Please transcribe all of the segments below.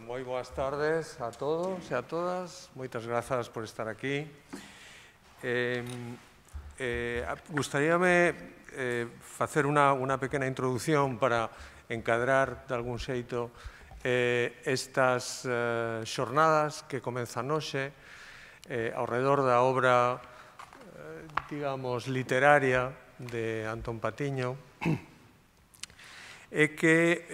moi boas tardes a todos e a todas. Moitas grazas por estar aquí. Gustaríame facer unha pequena introducción para encadrar de algún xeito estas xornadas que comenzan hoxe ao redor da obra, digamos, literaria de Antón Patiño, é que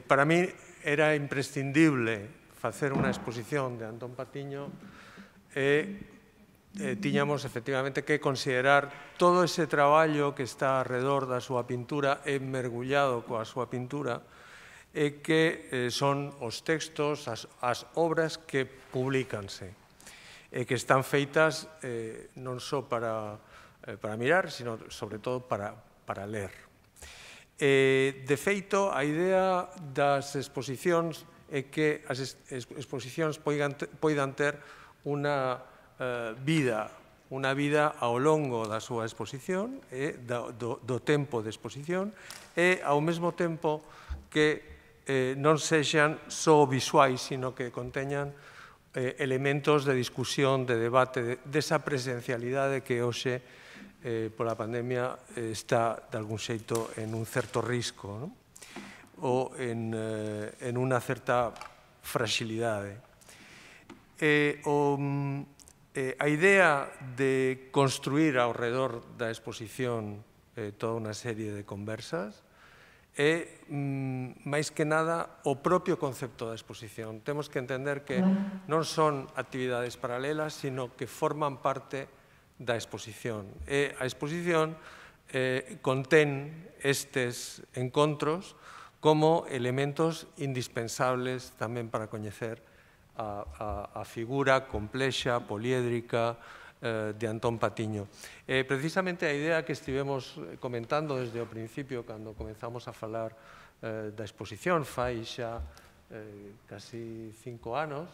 para mí era imprescindible facer unha exposición de Antón Patiño e tiñamos efectivamente que considerar todo ese traballo que está alrededor da súa pintura e mergullado coa súa pintura e que son os textos, as obras que publicanse e que están feitas non só para mirar, sino sobre todo para ler. De feito, a idea das exposicións é que as exposicións poidan ter unha vida ao longo da súa exposición, do tempo de exposición, e ao mesmo tempo que non sexan só visuais, sino que conteñan elementos de discusión, de debate, desa presencialidade que hoxe pola pandemia está, de algún xeito, en un certo risco, ou en unha certa fragilidade. A idea de construir ao redor da exposición toda unha serie de conversas é, máis que nada, o propio concepto da exposición. Temos que entender que non son actividades paralelas, sino que forman parte da exposición. E a exposición contén estes encontros como elementos indispensables tamén para coñecer a figura complexa, poliédrica de Antón Patiño. Precisamente a idea que estivemos comentando desde o principio, cando comenzamos a falar da exposición, fai xa casi 5 anos,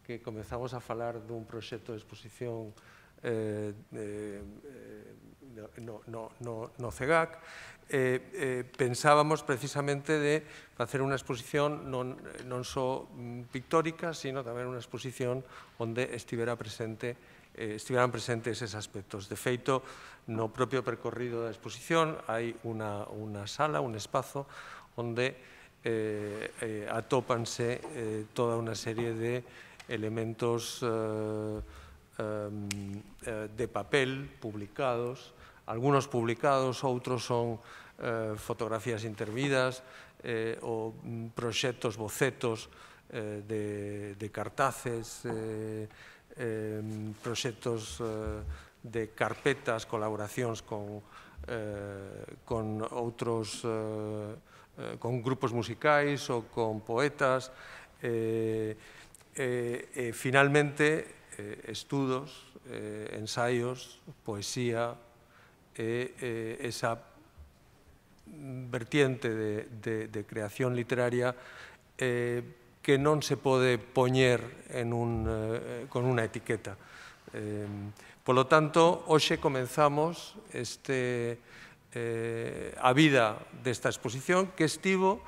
que comenzamos a falar dun proxecto de exposición no CEGAC, pensábamos precisamente de facer unha exposición non só pictórica, sino tamén unha exposición onde estiveran presentes eses aspectos. De feito, no propio percorrido da exposición hai unha sala, un espazo, onde atópanse toda unha serie de elementos de papel publicados, algunos publicados, outros son fotografías intervidas ou proxectos, bocetos de cartaces, proxectos de carpetas, colaboracións con outros, con grupos musicais ou con poetas, e finalmente estudos, ensaios, poesía e esa vertiente de creación literaria que non se pode poñer con unha etiqueta. Polo tanto, hoxe comenzamos a vida desta exposición que estivo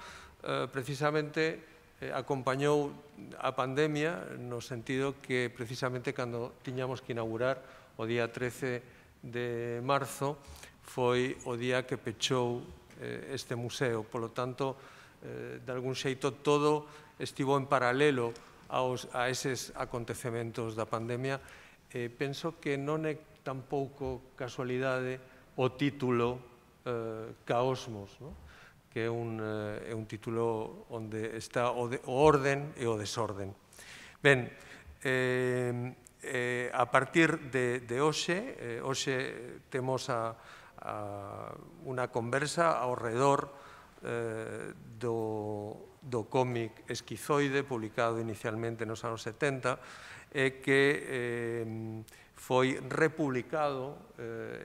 precisamente acompañou a pandemia no sentido que precisamente cando tiñamos que inaugurar o día 13 de marzo foi o día que pechou este museo. Polo tanto, de algún xeito, todo estivo en paralelo a eses acontecementos da pandemia. Penso que non é tampouco casualidade o título Caosmos, que é un título onde está o orden e o desorden. Ben, a partir de hoxe temos unha conversa ao redor do cómic Esquizoide, publicado inicialmente nos anos 70, e que foi republicado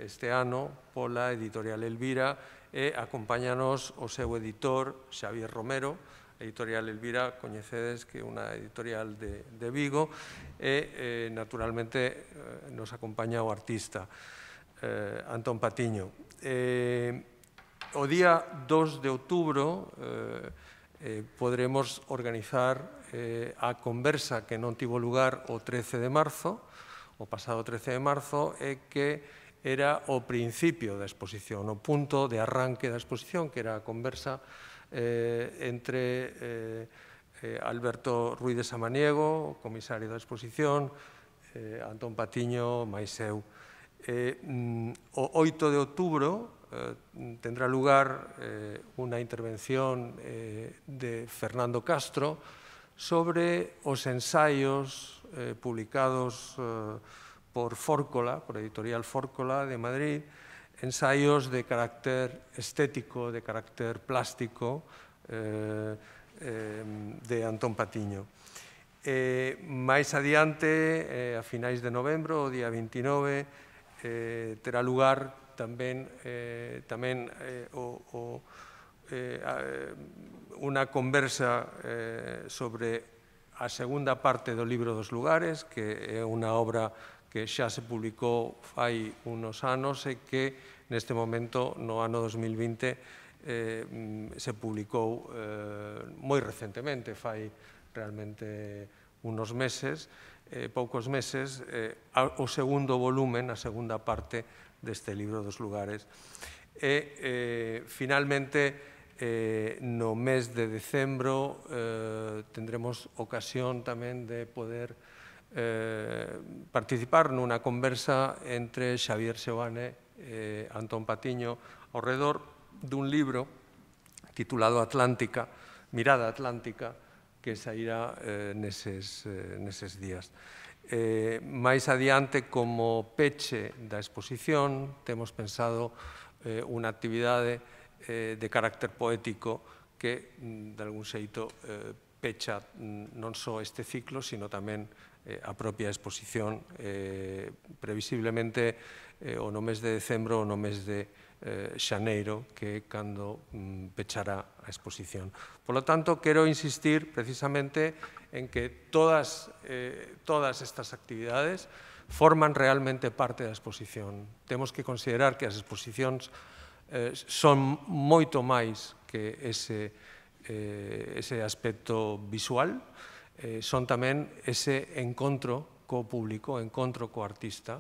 este ano pola editorial Elvira, e acompáñanos o seu editor, Xavier Romero. A editorial Elvira, coñecedes que é unha editorial de Vigo, e naturalmente nos acompaña o artista Antón Patiño. O día 2 de outubro poderemos organizar a conversa que non tivo lugar o 13 de marzo, o pasado 13 de marzo, e que era o principio da exposición, o punto de arranque da exposición, que era a conversa entre Alberto Ruiz de Samaniego, o comisario da exposición, Antón Patiño, máis eu. O 8 de outubro tendrá lugar unha intervención de Fernando Castro sobre os ensaios publicados por Fórcola, por Editorial Fórcola de Madrid, ensaios de carácter estético, de carácter plástico, de Antón Patiño. Mais adiante, a finais de novembro, o día 29, terá lugar tamén unha conversa sobre a segunda parte do Libro dos Lugares, que é unha obra que xa se publicou fai unos anos e que neste momento, no ano 2020, se publicou moi recentemente, fai realmente unos meses, poucos meses, o segundo volumen, a segunda parte deste Libro dos Lugares. E, finalmente, no mes de decembro tendremos ocasión tamén de poder participar nunha conversa entre Xavier Seoane e Antón Patiño ao redor dun libro titulado Atlántica, Mirada Atlántica, que sairá neses días. Mais adiante, como peche da exposición, temos pensado unha actividade de carácter poético que, de algún xeito, pecha non só este ciclo, sino tamén a propia exposición, previsiblemente o no mes de decembro ou no mes de xaneiro, que é cando pechará a exposición. Por lo tanto, quero insistir precisamente en que todas estas actividades forman realmente parte da exposición. Temos que considerar que as exposicións son moito máis que ese aspecto visual, son tamén ese encontro co público, encontro co artista,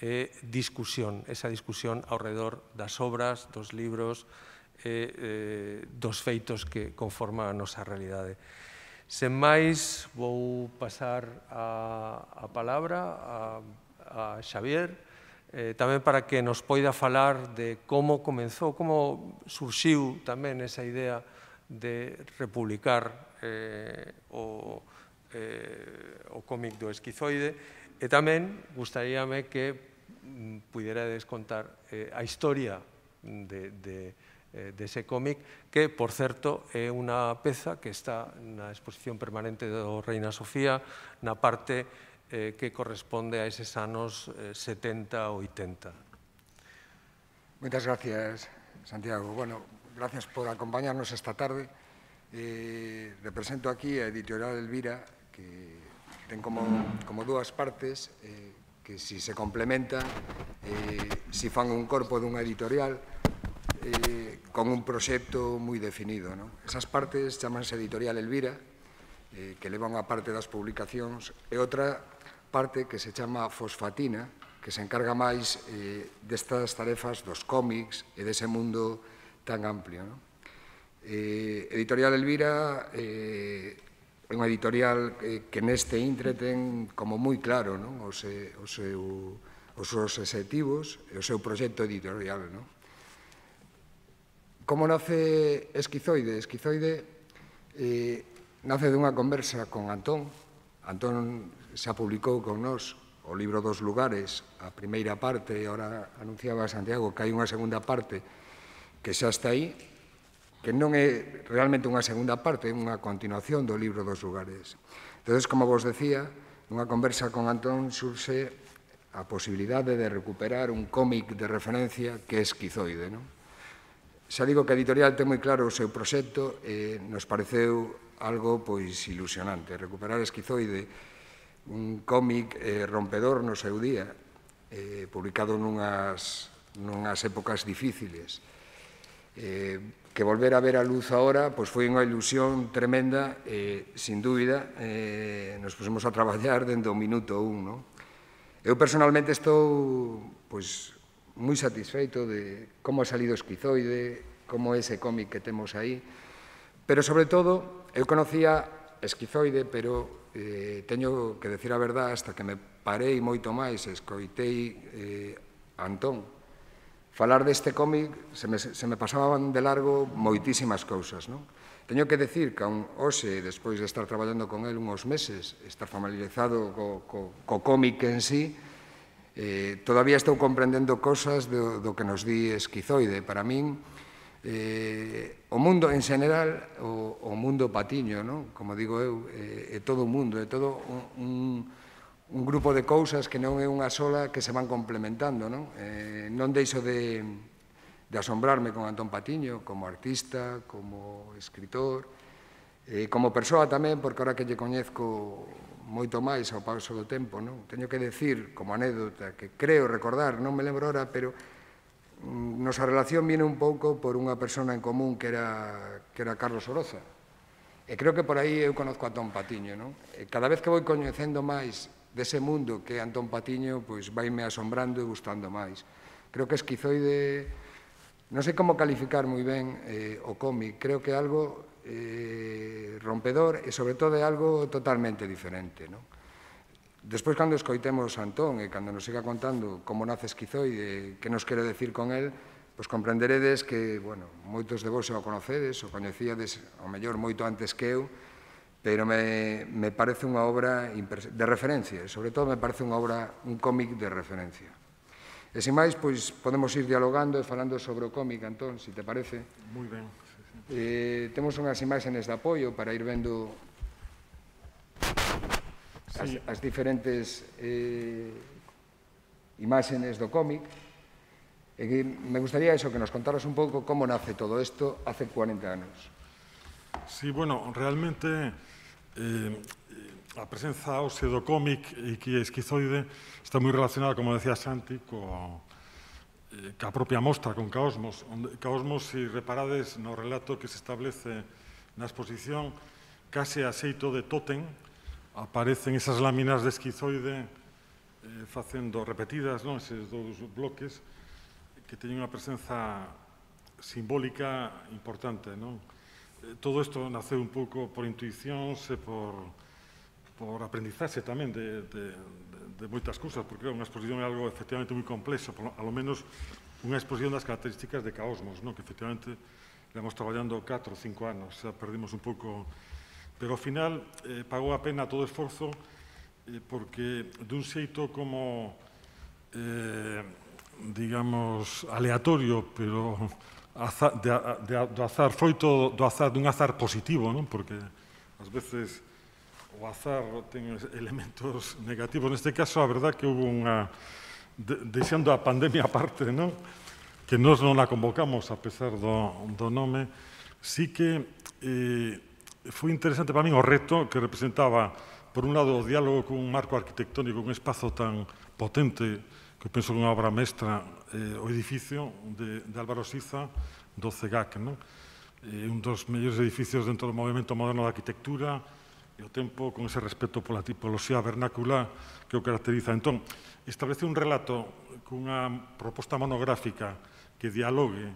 e discusión, esa discusión ao redor das obras, dos libros, dos feitos que conforman a nosa realidade. Sen máis, vou pasar a palabra a Xavier, tamén para que nos poida falar de como comenzou, como surxiu tamén esa idea de republicar o cómic do Esquizoide, e tamén gustaríame que puiderades contar a historia dese cómic, que, por certo, é unha peza que está na exposición permanente do Reina Sofía, na parte que corresponde a eses anos 70 ou 80. Moitas gracias, Santiago. Bueno, gracias por acompañarnos esta tarde. Represento aquí a Editorial Elvira, que ten como dúas partes, que si se complementan, si fan un corpo dunha editorial, con un proxecto moi definido. Esas partes chamanse Editorial Elvira, que leva unha parte das publicacións, e outra parte que se chama Fosfatina, que se encarga máis destas tarefas dos cómics e dese mundo tan amplio. Editorial Elvira é unha editorial que neste intre ten como moi claro os seus obxectivos e o seu proxecto editorial. Como nace Esquizoide? Esquizoide nace dunha conversa con Antón. Antón xa publicou con nós o Libro dos Lugares, a primeira parte, e agora anunciaba Santiago que hai unha segunda parte que xa está aí, que non é realmente unha segunda parte, é unha continuación do Libro dos Lugares. Entón, como vos decía, nunha conversa con Antón surxe a posibilidade de recuperar un cómic de referencia que é Esquizoide. Xa digo que a editorial ten moi claro o seu proxecto e nos pareceu algo ilusionante. Recuperar Esquizoide, un cómic rompedor no seu día, publicado nunhas épocas difíciles, que volver a ver a luz agora pois foi unha ilusión tremenda sin dúbida nos pusemos a traballar dende o minuto 1. Eu personalmente estou pois moi satisfeito de como ha salido Esquizoide, como é ese cómic que temos aí, pero sobre todo eu conocía Esquizoide, pero teño que decir a verdade hasta que me parei moito máis e escoitei a Antón falar deste cómic, se me pasaban de largo moitísimas cousas. Teño que decir que hoxe, despois de estar traballando con el uns meses, estar familiarizado co cómic en sí, todavía estou comprendendo cosas do que nos di Esquizoide. Para min, o mundo en general, o mundo patiño, como digo eu, é todo o mundo, é todo un grupo de cousas que non é unha sola que se van complementando. Non deixo de asombrarme con Antón Patiño como artista, como escritor, como persoa tamén, porque ahora que lle coñezco moito máis ao paso do tempo, teño que decir, como anécdota, que creo recordar, non me lembro ahora, pero nosa relación viene un pouco por unha persona en común que era Carlos Oroza. E creo que por aí eu conozco a Antón Patiño. Cada vez que vou coñecendo máis dese mundo que é Antón Patiño, pois vaime asombrando e gustando máis. Creo que Esquizoide, non sei como calificar moi ben o cómic, creo que é algo rompedor e sobre todo é algo totalmente diferente. Despois, cando escoitemos a Antón e cando nos siga contando como nace Esquizoide e que nos quere decir con el, pois comprenderedes que, bueno, moitos de vos xa o conocedes, o coñecíades, ao mellor, moito antes que eu, pero me parece unha obra de referencia, e sobre todo me parece unha obra, un cómic de referencia. E sin máis, pois podemos ir dialogando e falando sobre o cómic, Antón, se te parece. Moi ben. Temos unhas imaxes de apoio para ir vendo as diferentes imaxes do cómic. Me gustaría eso, que nos contaras un pouco como nace todo isto hace 40 anos. Sí, bueno, realmente a presenza hoxe do cómic e que é Esquizoide está moi relacionada, como decía Santi, ca propia mostra, con Caosmos. Caosmos, se reparades no relato que se establece na exposición, case a xeito de tótem, aparecen esas láminas de Esquizoide facendo repetidas, eses dous bloques, que teñen unha presenza simbólica importante. Todo isto naceu un pouco por intuicións e por aprendizaxe tamén de moitas cousas, porque unha exposición é algo efectivamente moi complexo, alo menos unha exposición das características de Caosmos, que efectivamente levamos traballando 4 ou 5 anos, xa perdimos un pouco, pero ao final pagou a pena todo o esforzo, porque dun xeito como, digamos, aleatorio, pero do azar, froito dun azar positivo, porque ás veces o azar ten elementos negativos. Neste caso, a verdad que houve unha, deixando a pandemia aparte, que nós non a convocamos a pesar do nome, sí que foi interesante para min o reto que representaba, por un lado, o diálogo con un marco arquitectónico, un espazo tan potente, que penso que é unha obra mestra, o edificio de Álvaro Siza, do CEGAC, un dos mellores edificios dentro do movimento moderno da arquitectura, e ao tempo con ese respeto pola tipoloxía vernácula que o caracteriza. Entón, establecer un relato cunha proposta monográfica que dialogue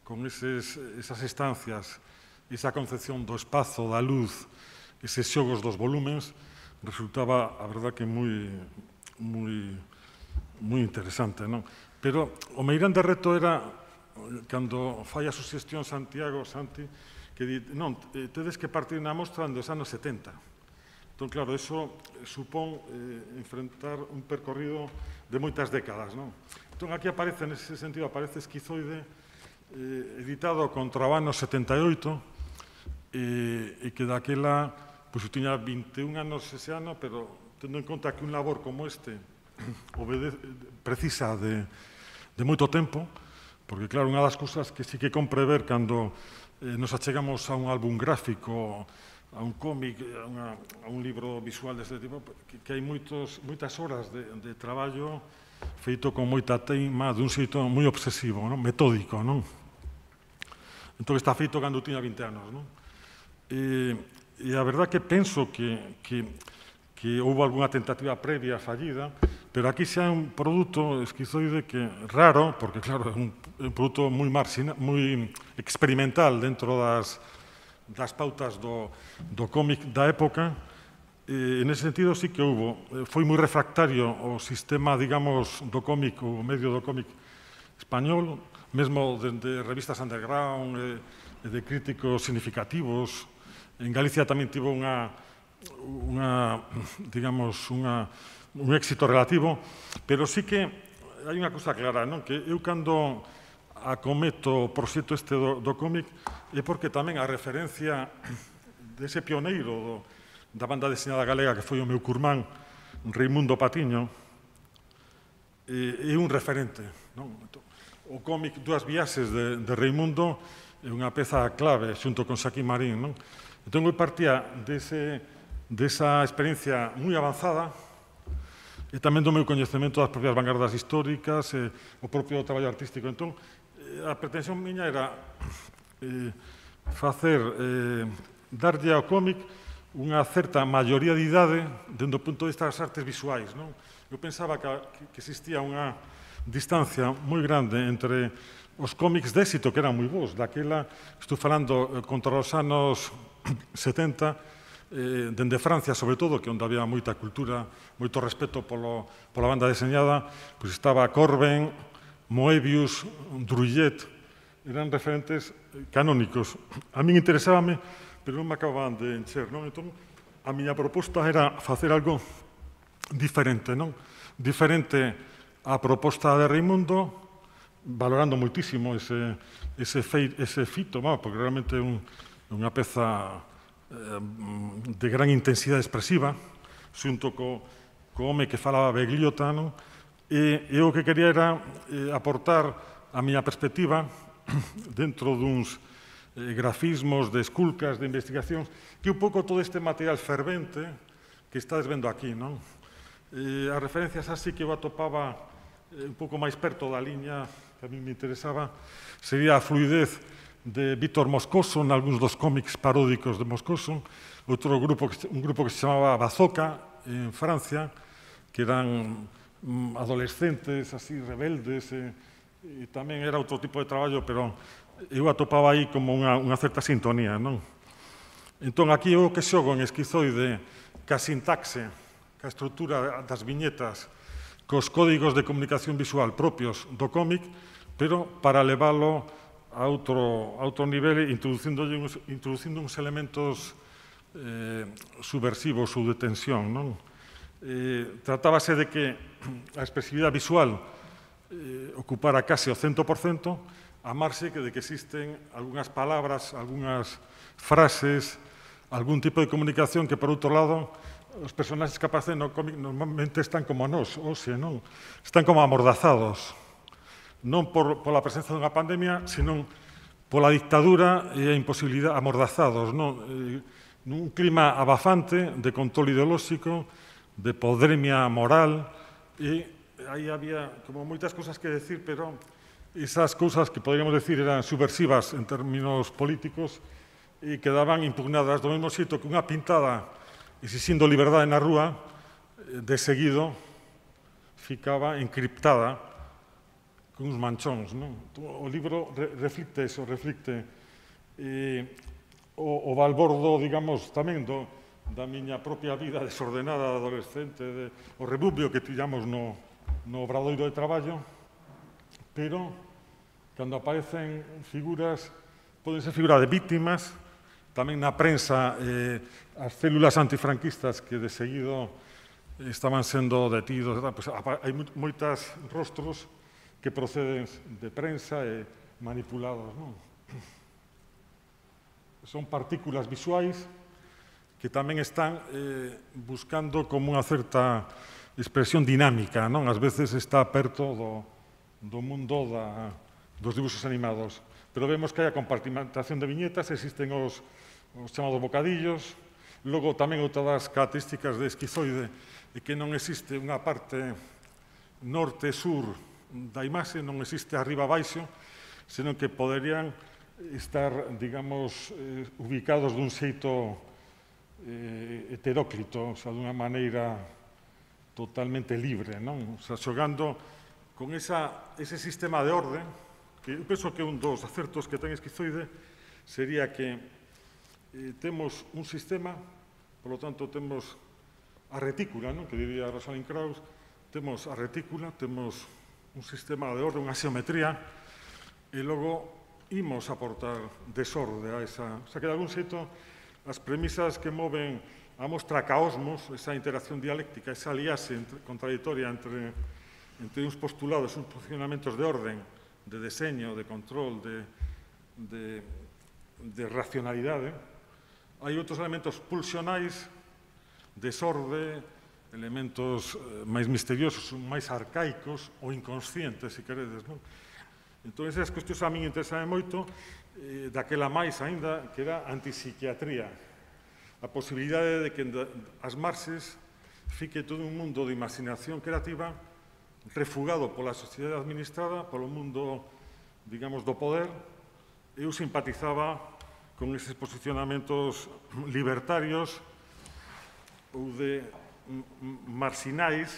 con esas estancias, esa concepción do espazo, da luz, eses xogos dos volúmenes, resultaba, a verdad, que moi interesante. Pero o meirande reto era, cando fai a suxestión Santi, que di, non, tedes que partir na mostra dos anos 70. Entón, claro, eso supón enfrentar un percorrido de moitas décadas. Entón, aquí aparece, nese sentido, aparece Esquizoide, editado contra o ano 78, e que daquela, pois, tiña 21 anos ese ano, pero tendo en conta que un labor como este precisa de moito tempo, porque, claro, unha das cousas que sí que compre ver cando nos achegamos a un álbum gráfico, a un cómic, a un libro visual deste tipo, que hai moitas horas de traballo feito con moita teima, dun xeito moi obsesivo, metódico. Entón, está feito cando tiña 20 anos, non? E a verdad que penso que houve algunha tentativa previa fallida, pero aquí xa é un produto esquizoide que raro, porque claro, é un produto moi experimental dentro das pautas do cómic da época. En ese sentido sí que houve. Foi moi refractario o sistema, digamos, do cómic, o medio do cómic español, mesmo de revistas underground e de críticos significativos. En Galicia tamén tivo un éxito relativo, pero sí que hai unha cousa clara, non? Que eu cando acometo o proxecto este do cómic é porque tamén a referencia dese pioneiro da banda deseñada galega que foi o meu curmán, Reimundo Patiño, é un referente, non? O cómic Dúas viaxes de Reimundo é unha peza clave xunto con Xaquín Marín, non? Entón, eu partía desa experiencia moi avanzada e tamén do meu coñecemento das propias vanguardas históricas e o propio traballo artístico. Entón, a pretensión miña era darlle ao cómic unha certa maioría de idade dentro do punto de vista das artes visuais, non? Eu pensaba que existía unha distancia moi grande entre os cómics de éxito, que eran moi bons, daquela, estou falando contra os anos 70, dende Francia, sobre todo, que onde había moita cultura, moito respeto pola banda deseñada, pois estaba Corben, Moebius, Druillet, eran referentes canónicos. A min interesábame, pero non me acababan de encher, non? Entón, a miña proposta era facer algo diferente, non? Diferente á proposta de Reimundo, valorando moitísimo ese fito, porque realmente é unha peza de gran intensidade expresiva, xunto co home que falaba Begliota, non? E o que quería era aportar a miña perspectiva dentro duns grafismos, de esculcas, de investigacións, que un pouco todo este material fervente que estades vendo aquí, non? As referencias así que eu atopaba un pouco máis perto da liña que a mí me interesaba sería a fluidez de Víctor Moscoso, en algúns dos cómics paródicos de Moscoso, un grupo que se chamaba Bazooka, en Francia, que eran adolescentes, así, rebeldes, e tamén era outro tipo de traballo, pero eu atopaba aí como unha certa sintonía, non? Entón, aquí o que xogo en esquizoide, ca sintaxe, ca estrutura das viñetas, cos códigos de comunicación visual propios do cómic, pero para leválo a outro nivel, introducindo uns elementos subversivos ou de tensión, non? Tratábase de que a expresividade visual ocupara case o 100%, a marxe de que existen algunhas palabras, algunhas frases, algún tipo de comunicación que, por outro lado, os personaxes que aparecen no cómic normalmente están como nós, hoxe, non? Están como amordazados, non pola presenza dunha pandemia, senón pola dictadura e a imposibilidade, amordazados, non? Nun clima abafante de control ideolóxico, de podremia moral, e aí había como moitas cousas que decir, pero esas cousas que poderíamos decir eran subversivas en términos políticos e quedaban impugnadas do mesmo xeito que unha pintada exixindo liberdade na rúa, de seguido ficaba encriptada con uns manchóns, non? O libro reflicte eso, reflicte o balbordo, digamos, tamén da miña propia vida desordenada adolescente, o rebubio que tiñamos no obradoiro de traballo, pero cando aparecen figuras, poden ser figuras de víctimas, tamén na prensa as células antifranquistas que de seguido estaban sendo detidos, hai moitos rostros que proceden de prensa e manipulados, non? Son partículas visuais que tamén están buscando como unha certa expresión dinámica, non? Ás veces está perto do mundo dos dibujos animados. Pero vemos que hai a compartimentación de viñetas, existen os chamados bocadillos, logo tamén outra das características de esquizoide é que non existe unha parte norte-sur da imaxe, non existe arriba-baixo, senón que poderían estar, digamos, ubicados dun xeito heteróclito, o sea, dunha maneira totalmente libre, non? O sea, xogando con ese sistema de orde, que eu penso que un dos acertos que ten Esquizoide sería que temos un sistema, por lo tanto, temos a retícula, non? Que diría Rosalind Krauss, temos a retícula, temos un sistema de orde, unha xeometría, e logo imos aportar desorde a esa... O sea, que de algún xeito as premisas que moven a mostra caosmos, esa interacción dialéctica, esa aliase contradictoria entre uns postulados, uns funcionamentos de orden, de deseño, de control, de racionalidade. Hai outros elementos pulsionais, desorde, elementos máis misteriosos, máis arcaicos ou inconscientes, se queredes, non? Entón, esas cuestións a min interesan moito, daquela máis aínda, que era antipsiquiatría. A posibilidade de que as marxes fique todo un mundo de imaginación creativa refugado pola sociedade administrada, polo mundo, digamos, do poder. Eu simpatizaba con eses posicionamentos libertarios ou de marxinais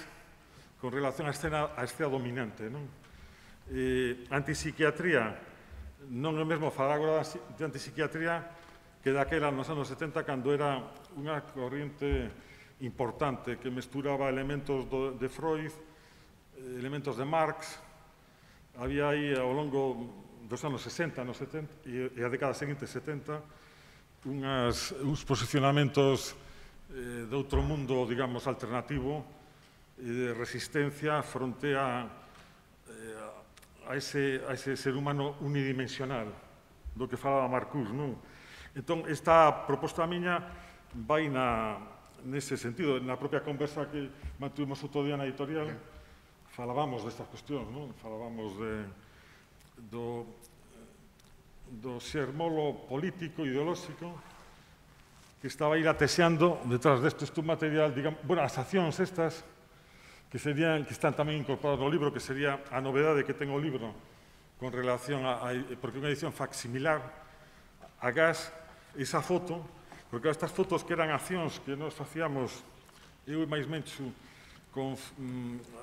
con relación á escena dominante, non? Antipsiquiatría, non é mesmo falar agora de antipsiquiatría que daquela nos anos 70, cando era unha corriente importante que mesturaba elementos de Freud, elementos de Marx. Había aí ao longo dos anos 60, anos 70 e a década seguinte, 70, uns posicionamentos de outro mundo, digamos, alternativo e de resistencia fronte a ese ser humano unidimensional do que falaba Marcuse, non? Entón, esta proposta miña vai nese sentido. Na propia conversa que mantuvimos outro día na editorial, falábamos destas cuestións, non? Falábamos do xermolo político, ideolóxico, que estaba aí latexeando detrás destes un material, digamos, bueno, as accións estas, que están tamén incorporadas no libro, que sería a novedade que ten o libro con relación porque unha edición facsimilar a gas, esa foto, porque estas fotos que eran accións que nos facíamos, eu e máis Menchu, con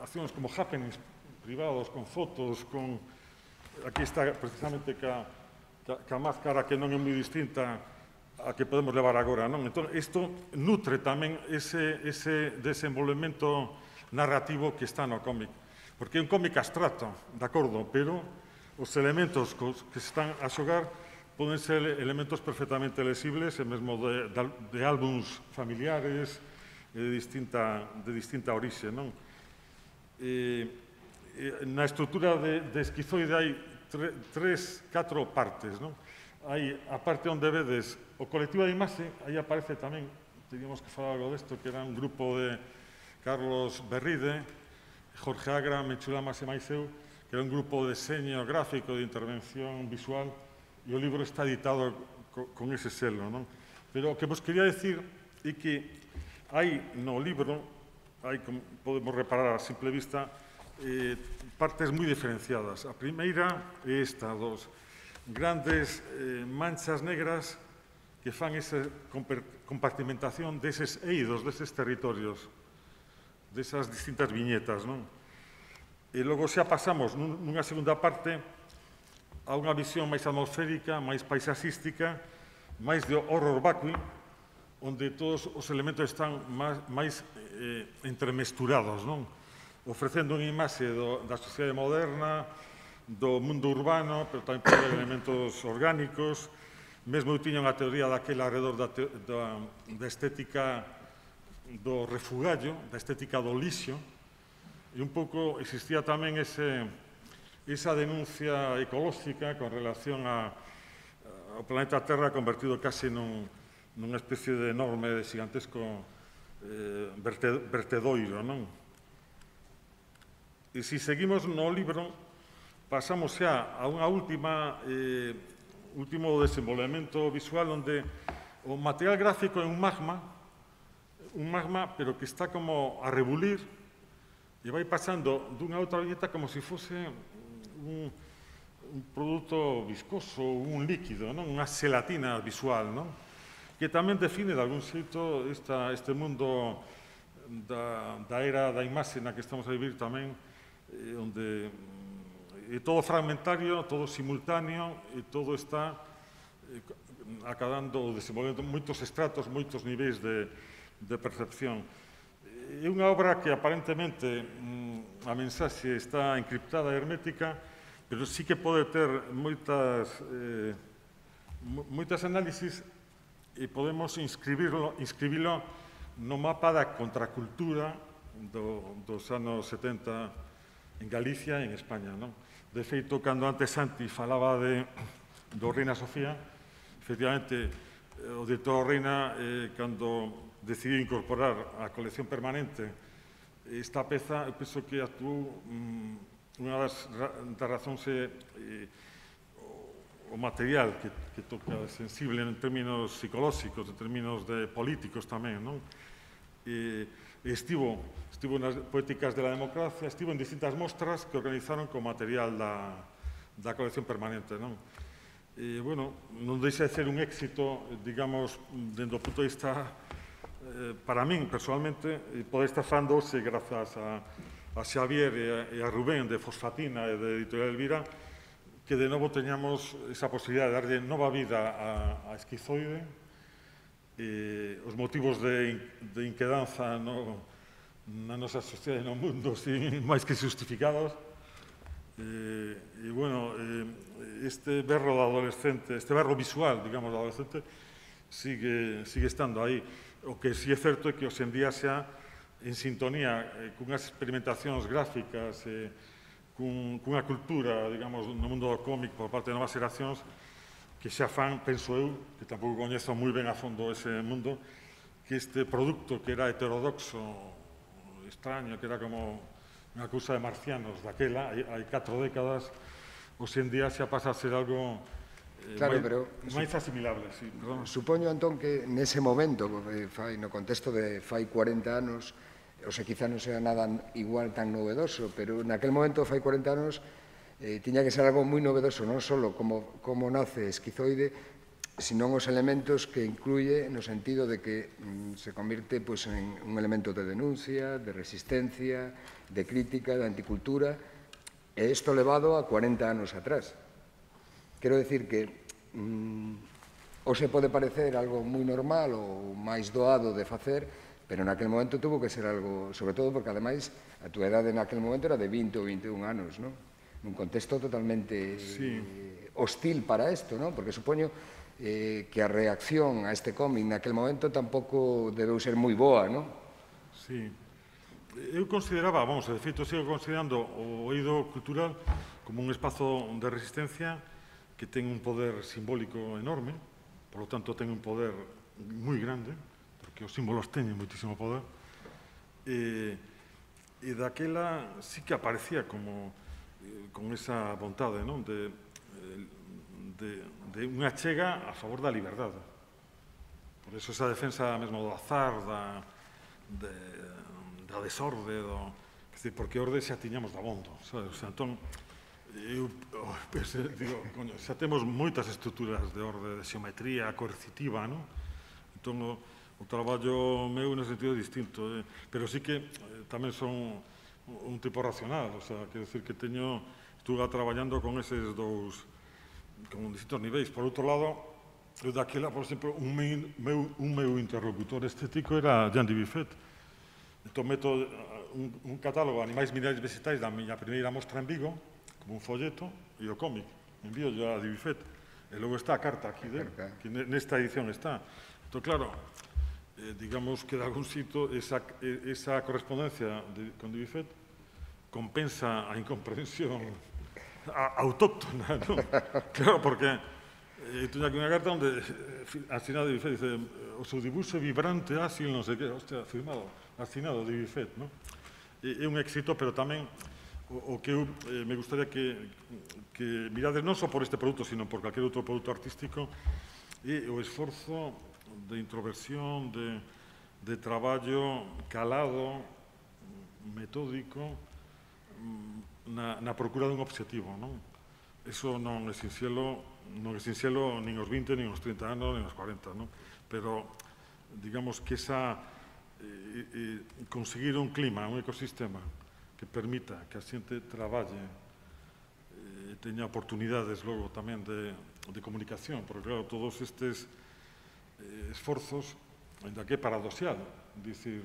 accións como happenings privados, con fotos, con... Aquí está precisamente ca máscara que non é moi distinta a que podemos levar agora, non? Entón, isto nutre tamén ese desenvolvemento narrativo que está no cómic. Porque é un cómic abstracto, de acordo, pero os elementos que se están a xogar poden ser elementos perfectamente lesibles, e mesmo de álbums familiares de distinta orixe, non? Na estrutura de Esquizoide hai 4 partes, non? Hai a parte onde vedes o colectivo de imaxe, aí aparece tamén, teníamos que falar algo desto, que era un grupo de Carlos Berride, Jorge Agra, Menchu Lamas e máis eu, que era un grupo de deseño gráfico, de intervención visual, e o libro está editado con ese selo, non? Pero o que vos quería decir é que hai no libro, como podemos reparar a simple vista, partes moi diferenciadas. A primeira é esta, dos grandes manchas negras que fan esa compartimentación deses eidos, deses territorios, desas distintas viñetas, non? E logo xa pasamos nunha segunda parte a unha visión máis atmosférica, máis paisaxística, máis de horror vacui, onde todos os elementos están máis entremesturados, non? Ofrecendo unha imaxe da sociedade moderna, do mundo urbano, pero tamén pode haber elementos orgánicos. Mesmo eu tiña unha teoría daquela alrededor da estética do refugallo, da estética do lixo, e un pouco existía tamén esa denuncia ecolóxica con relación ao planeta Terra convertido case nunha especie de enorme, de gigantesco vertedoiro, non? E se seguimos no libro, pasamos xa a unha último desenvolvemento visual onde o material gráfico é un magma, pero que está como a rebulir e vai pasando dunha outra viñeta como se fose un produto viscoso, un líquido, non? Unha xelatina visual, non? Que tamén define, de algún xeito, este mundo da era da imaxe na que estamos a vivir tamén, onde é todo fragmentario, todo simultáneo, e todo está acabando, desenvolvendo moitos estratos, moitos niveis de percepción. É unha obra que aparentemente a mensaxe está encriptada e hermética, pero sí que pode ter moitas análisis e podemos inscribilo no mapa da contracultura dos anos 70 en Galicia e en España. De feito, cando antes Santi falaba do Reina Sofía, efectivamente, o director Reina, cando decidiu incorporar á colección permanente esta peza, eu penso que actuou unha das razóns o material que toca sensible en términos psicolóxicos, en términos políticos tamén, non? Estivo nas Poéticas de la Democracia, estivo en distintas mostras que organizaron con material da colección permanente, non? Bueno, non deixa de ser un éxito, digamos, dentro do punto de vista, para min, personalmente, poder estar falando hoxe, grazas a Xavier e a Rubén de Fosfatina e de Editorial Elvira, que de novo teñamos esa posibilidad de darlle nova vida a Esquizoide, os motivos de inquedanza na nosa sociedade e no mundo, máis que justificados. E, bueno, este berro do adolescente, este berro visual, digamos, do adolescente, sigue estando aí. O que sí é certo é que hoxendía xa en sintonía cunhas experimentacións gráficas, cunha cultura, digamos, no mundo do cómic por parte de novas xeracións, que xa fan, penso eu, que tampouco coñezo moi ben a fondo ese mundo, que este produto que era heterodoxo, extraño, que era como unha cousa de marcianos daquela, hai 4 décadas, hoxendía xa pasa a ser algo máis asimilable. Supoño, Antón, que nese momento, no contexto de fai 40 anos, o sea, quizá non sea nada igual tan novedoso, pero naquel momento, fai 40 anos, tiña que ser algo moi novedoso, non só como nace Esquizoide, senón os elementos que incluye no sentido de que se convirte en un elemento de denuncia, de resistencia, de crítica, de anticultura, e isto levado a 40 anos atrás. Quero decir que hoxe pode parecer algo moi normal ou máis doado de facer, pero naquel momento tuvo que ser algo, sobre todo porque, ademais, a túa edade naquel momento era de 20 ou 21 anos, non? Nun contexto totalmente hostil para isto, non? Porque supoño que a reacción a este cómic naquel momento tampouco debeu ser moi boa, non? Sí. Eu consideraba, de feito, sigo considerando o eido cultural como un espazo de resistencia que ten un poder simbólico enorme, por lo tanto ten un poder moi grande, porque os símbolos teñen moitísimo poder, e daquela sí que aparecía como con esa vontade, non? De unha chega a favor da liberdade. Por eso esa defensa mesmo do azar, da desorde, porque orde xa tiñamos dabondo, sabes? O sea, entón, eu digo, xa temos moitas estruturas de orde, de xeometría coercitiva, non? Entón, o traballo meu nese sentido é distinto, pero sí que tamén son un tipo racional, o sea, quero dicir que estuve traballando con eses dous, con distintos niveis. Por outro lado, eu daquela, por exemplo, un meu interlocutor estético era Jean Dubuffet. Entón, meto un catálogo de animais minerais vegetais da miña primeira mostra en Vigo, como un folleto, e o cómic. Envío yo a Dubuffet. E logo está a carta aquí, que nesta edición está. Entón, claro, digamos que de algún sitio esa correspondencia con Dubuffet compensa a incomprensión autóctona, ¿no? Claro, porque teño aquí unha carta onde asinado Dubuffet dice o seu dibuixo vibrante, ágil, non sei que, hostia, firmado, asinado Dubuffet, ¿no? É un éxito, pero tamén o que eu me gustaría que mirades non só por este produto, sino por calquer outro produto artístico, é o esforzo de introversión, de traballo calado, metódico, na procura dun obxectivo, non? eso non é sinxelo nin os 20, nin os 30 anos, nin os 40, non? Pero, digamos que conseguir un clima, un ecosistema que permita que a xente traballe e teña oportunidades logo tamén de comunicación, porque, claro, todos estes esforzos, ainda que é paradoxal, dicir,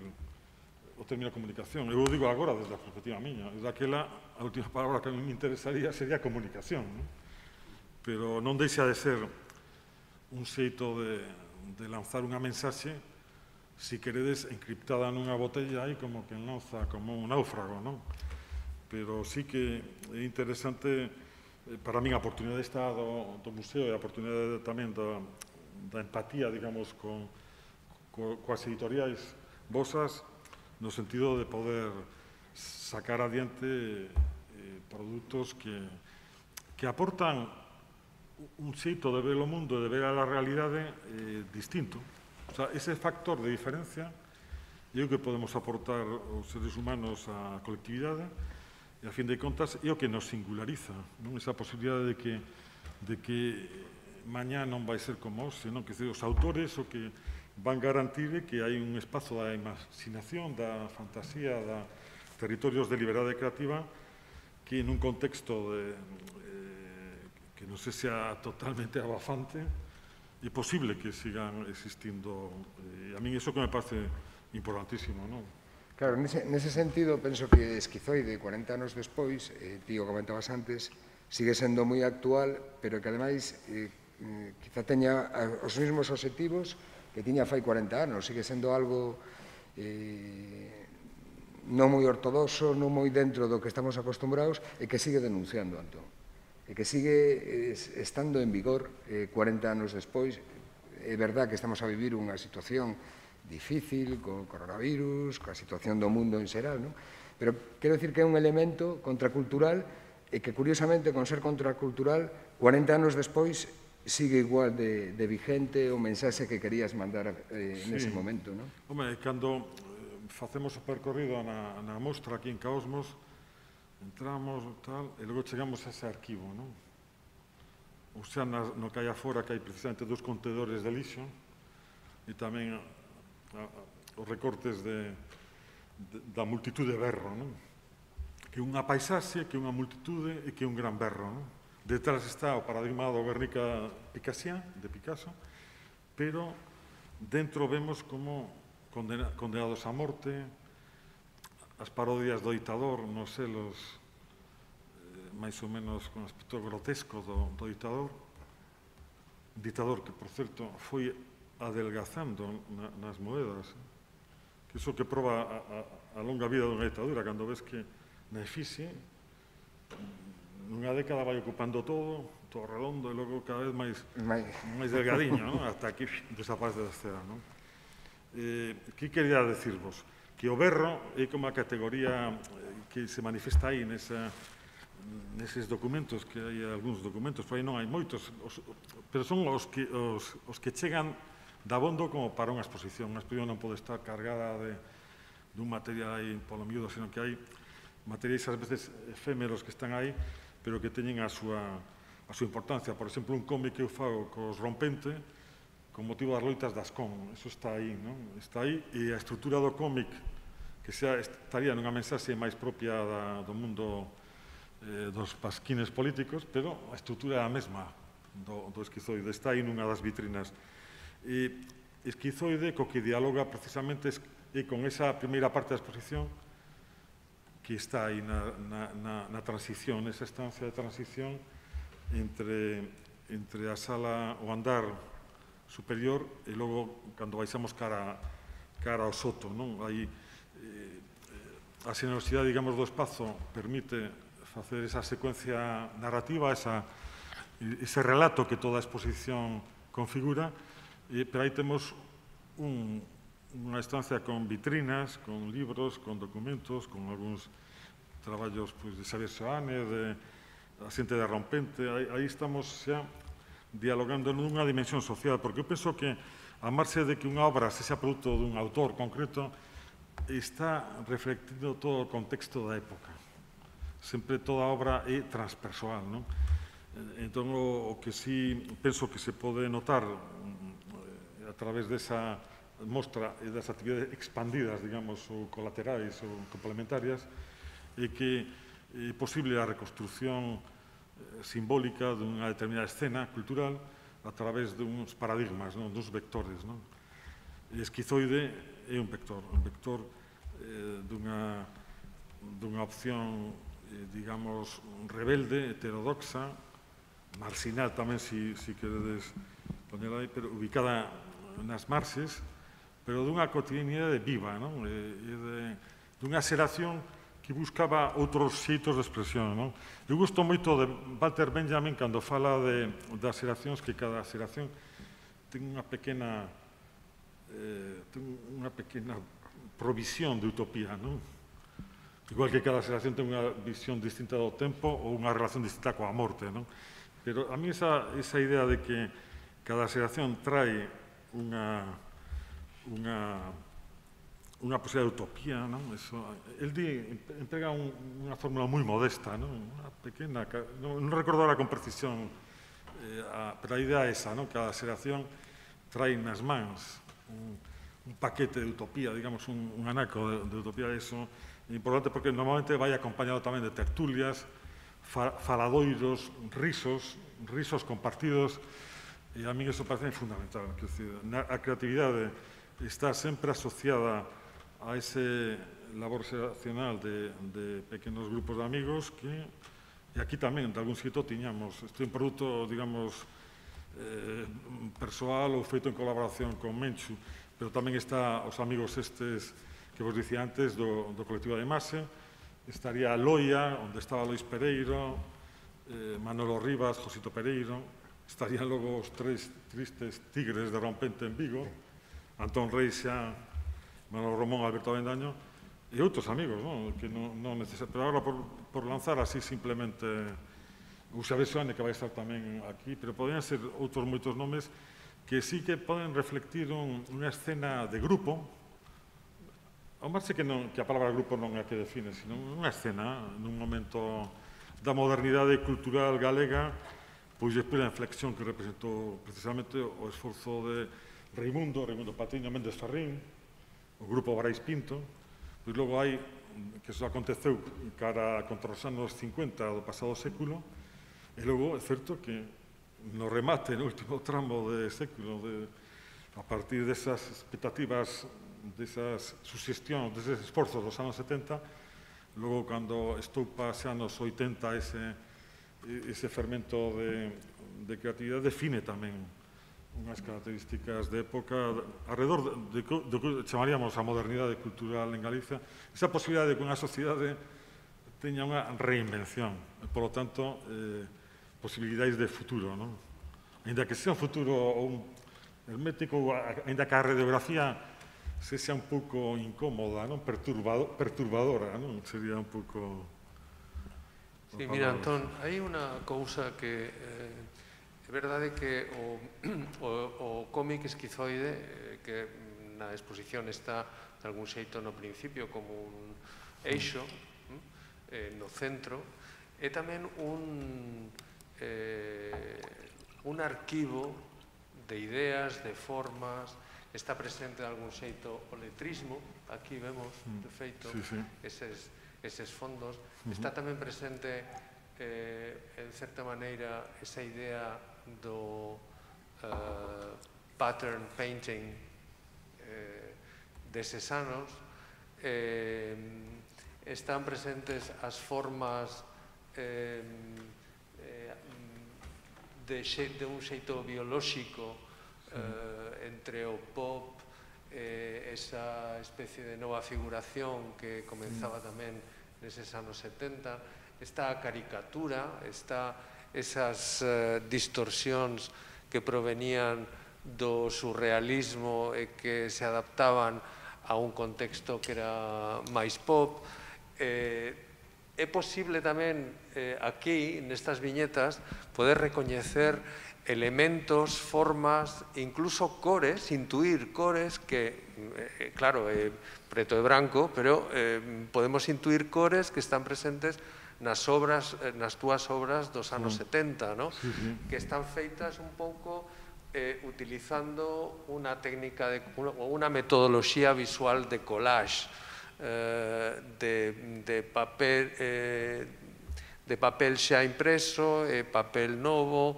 o término comunicación. Eu digo agora desde a perspectiva miña. Daquela, a última palabra que a mí me interesaría sería comunicación, non? Pero non deixa de ser un xeito de lanzar unha mensaxe, si queredes, encriptada nunha botella aí como que lanza como un náufrago, non? Pero sí que é interesante, para min, a oportunidade está do museo e a oportunidade tamén da empatía, digamos, coas editoriais vosas, no sentido de poder sacar adiante produtos que aportan un xeito de ver o mundo, de ver a realidade distinto. O sea, ese factor de diferencia é o que podemos aportar os seres humanos á colectividade e, a fin de contas, é o que nos singulariza, non? Esa posibilidade de que mañá non vai ser como hoxe, non? Que os autores o que van garantir que hai un espazo da imaginación, da fantasía, da territorios de liberdade creativa que nun contexto que non se sea totalmente abafante é posible que sigan existindo. A min iso que me parece importantísimo, non? Claro, nese sentido, penso que Esquizoide, 40 anos despois, ti o comentabas antes, sigue sendo moi actual, pero que, ademais, quizá teña os mesmos obxectivos que tiña fai 40 anos. Sigue sendo algo non moi ortodoxo, non moi dentro do que estamos acostumbrados, e que sigue denunciando, Antón. E que sigue estando en vigor 40 anos despois. É verdad que estamos a vivir unha situación difícil, co coronavirus, coa situación do mundo en xeral, non? Pero quero dicir que é un elemento contracultural e que, curiosamente, con ser contracultural, 40 anos despois, sigue igual de vigente o mensaxe que querías mandar nese momento, non? Home, cando facemos o percorrido na mostra aquí en Caosmos, entramos, tal, e logo chegamos a ese arquivo, non? O sea, no que hai afora, que hai precisamente 2 contedores de lixo, e tamén os recortes da multitude de berro, non? Que unha paisaxe, que unha multitude e que un gran berro, non? Detrás está o paradigma do Guernica Picassian, de Picasso, pero dentro vemos como condenados a morte, as parodias do ditador nos selos máis ou menos con aspecto grotesco do ditador, que, por certo, foi adelgazando nas moedas, que iso que proba a longa vida dunha ditadura, cando ves que na efixe nunha década vai ocupando todo redondo, e logo cada vez máis delgadiño, non? Hasta aquí desaparece da escena, non? Que quería decirvos? Que o berro é como a categoría que se manifesta aí neses documentos, que hai algúns documentos, por aí non hai moitos, pero son os que chegan dabondo como para unha exposición. Unha exposición non pode estar cargada dun material aí polo miúdo, sino que hai materiais ás veces efémeros que están aí, pero que teñen a súa importancia. Por exemplo, un cómic que eu fago cos Rompente, con motivo das loitas das CON. Eso está aí, non? Está aí, e a estrutura do cómic, que estaría nunha mensaxe máis propia do mundo dos pasquines políticos, pero a estrutura é a mesma do Esquizoide. Está aí nunha das vitrinas. E Esquizoide, co que dialoga precisamente é con esa primeira parte da exposición que está aí na transición, nesa estancia de transición entre a sala, o andar superior, e logo, cando baixamos cara ao soto, non? Aí a xenerosidade, digamos, do espazo permite facer esa secuencia narrativa, ese relato que toda a exposición configura, pero aí temos unha estancia con vitrinas, con libros, con documentos, con algúns traballos de Xavier Soane, da xente de Rompente. Aí estamos xa dialogando nunha dimensión social, porque eu penso que, a marxe de que unha obra sexa produto dun autor concreto, está reflectindo todo o contexto da época. Sempre toda obra é transpersoal, non? Entón, o que sí penso que se pode notar a través desa mostra e das actividades expandidas, digamos, ou colaterais ou complementarias, é que é posible a reconstrucción simbólica dunha determinada escena cultural a través duns paradigmas, duns vectores. Esquizoide é un vector dunha opción, digamos, rebelde, heterodoxa, marxinal tamén, se queredes poñer aí, pero ubicada nas marxes, pero dunha cotidianidade viva, dunha xeración que buscaba outros xeitos de expresión. Eu gosto moito de Walter Benjamin cando fala das xeracións, que cada xeración ten unha pequena provisión de utopía, igual que cada xeración ten unha visión distinta do tempo ou unha relación distinta coa morte. Pero a mí esa idea de que cada xeración trae unha posibilidad de utopía, el emprega unha fórmula moi modesta, unha pequena, non recordo ahora con precisión, pero a idea é esa, cada xeración trae nas mans un paquete de utopía, digamos, un anaco de utopía. Eso é importante porque normalmente vai acompañado tamén de tertulias, faladoiros, risos compartidos, e a mí eso parece fundamental. A creatividade está sempre asociada a ese labor xeracional de pequenos grupos de amigos que, e aquí tamén, de algún xeito, tiñamos. Isto é un produto, digamos, persoal ou feito en colaboración con Menchu, pero tamén está os amigos estes que vos dicía antes do colectivo de Mase. Estaría Loia, onde estaba Lois Pereiro, Manolo Rivas, Josito Pereiro. Estarían logo os tres tristes tigres de Rompente en Vigo, Antón Reixa, Manolo Romón, Alberto Avendaño, e outros amigos, que non necesariamente. Pero agora, por lanzar así simplemente, o Xavier Soane, que vai estar tamén aquí, pero podrían ser outros moitos nomes que sí que poden reflectir unha escena de grupo, ao marxe que a palabra grupo non é a que define, sino unha escena nun momento da modernidade cultural galega, pois despois da inflexión que representou precisamente o esforzo de Raimundo Patiño Méndez Ferrín, o grupo Barais Pinto, pois logo hai, que eso aconteceu contra os anos 50 do pasado século, e logo é certo que no remate, no último tramo de século, a partir desas expectativas, desas suxestións, deses esforzos dos anos 70, logo cando estoupa xa nos 80 ese fermento de creatividade define tamén unhas características de época alrededor do que chamaríamos a modernidade cultural en Galicia, esa posibilidade de que unha sociedade teña unha reinvención, e, polo tanto, posibilidades de futuro, Ainda que sea un futuro hermético, ainda que a radiografía sexa un pouco incómoda, perturbadora, sería un pouco... Sí, mira, Antón, hai unha cousa que é verdade que o cómic esquizoide, que na exposición está de algún xeito no principio como un eixo no centro, é tamén un arquivo de ideas, de formas. Está presente de algún xeito o letrismo, aquí vemos, de feito, eses fondos. Está tamén presente, en certa maneira, esa idea do pattern painting deses anos. Están presentes as formas de un xeito biolóxico entre o pop, esa especie de nova figuración que comenzaba tamén neses anos 70, está a caricatura, está esas distorsións que provenían do surrealismo e que se adaptaban a un contexto que era máis pop. É posible tamén aquí, nestas viñetas, poder recoñecer elementos, formas, incluso cores, intuir cores que, claro, preto e branco, pero podemos intuir cores que están presentes nas túas obras dos anos 70, que están feitas un pouco utilizando unha técnica, unha metodoloxía visual de collage, de papel xa impreso, papel novo,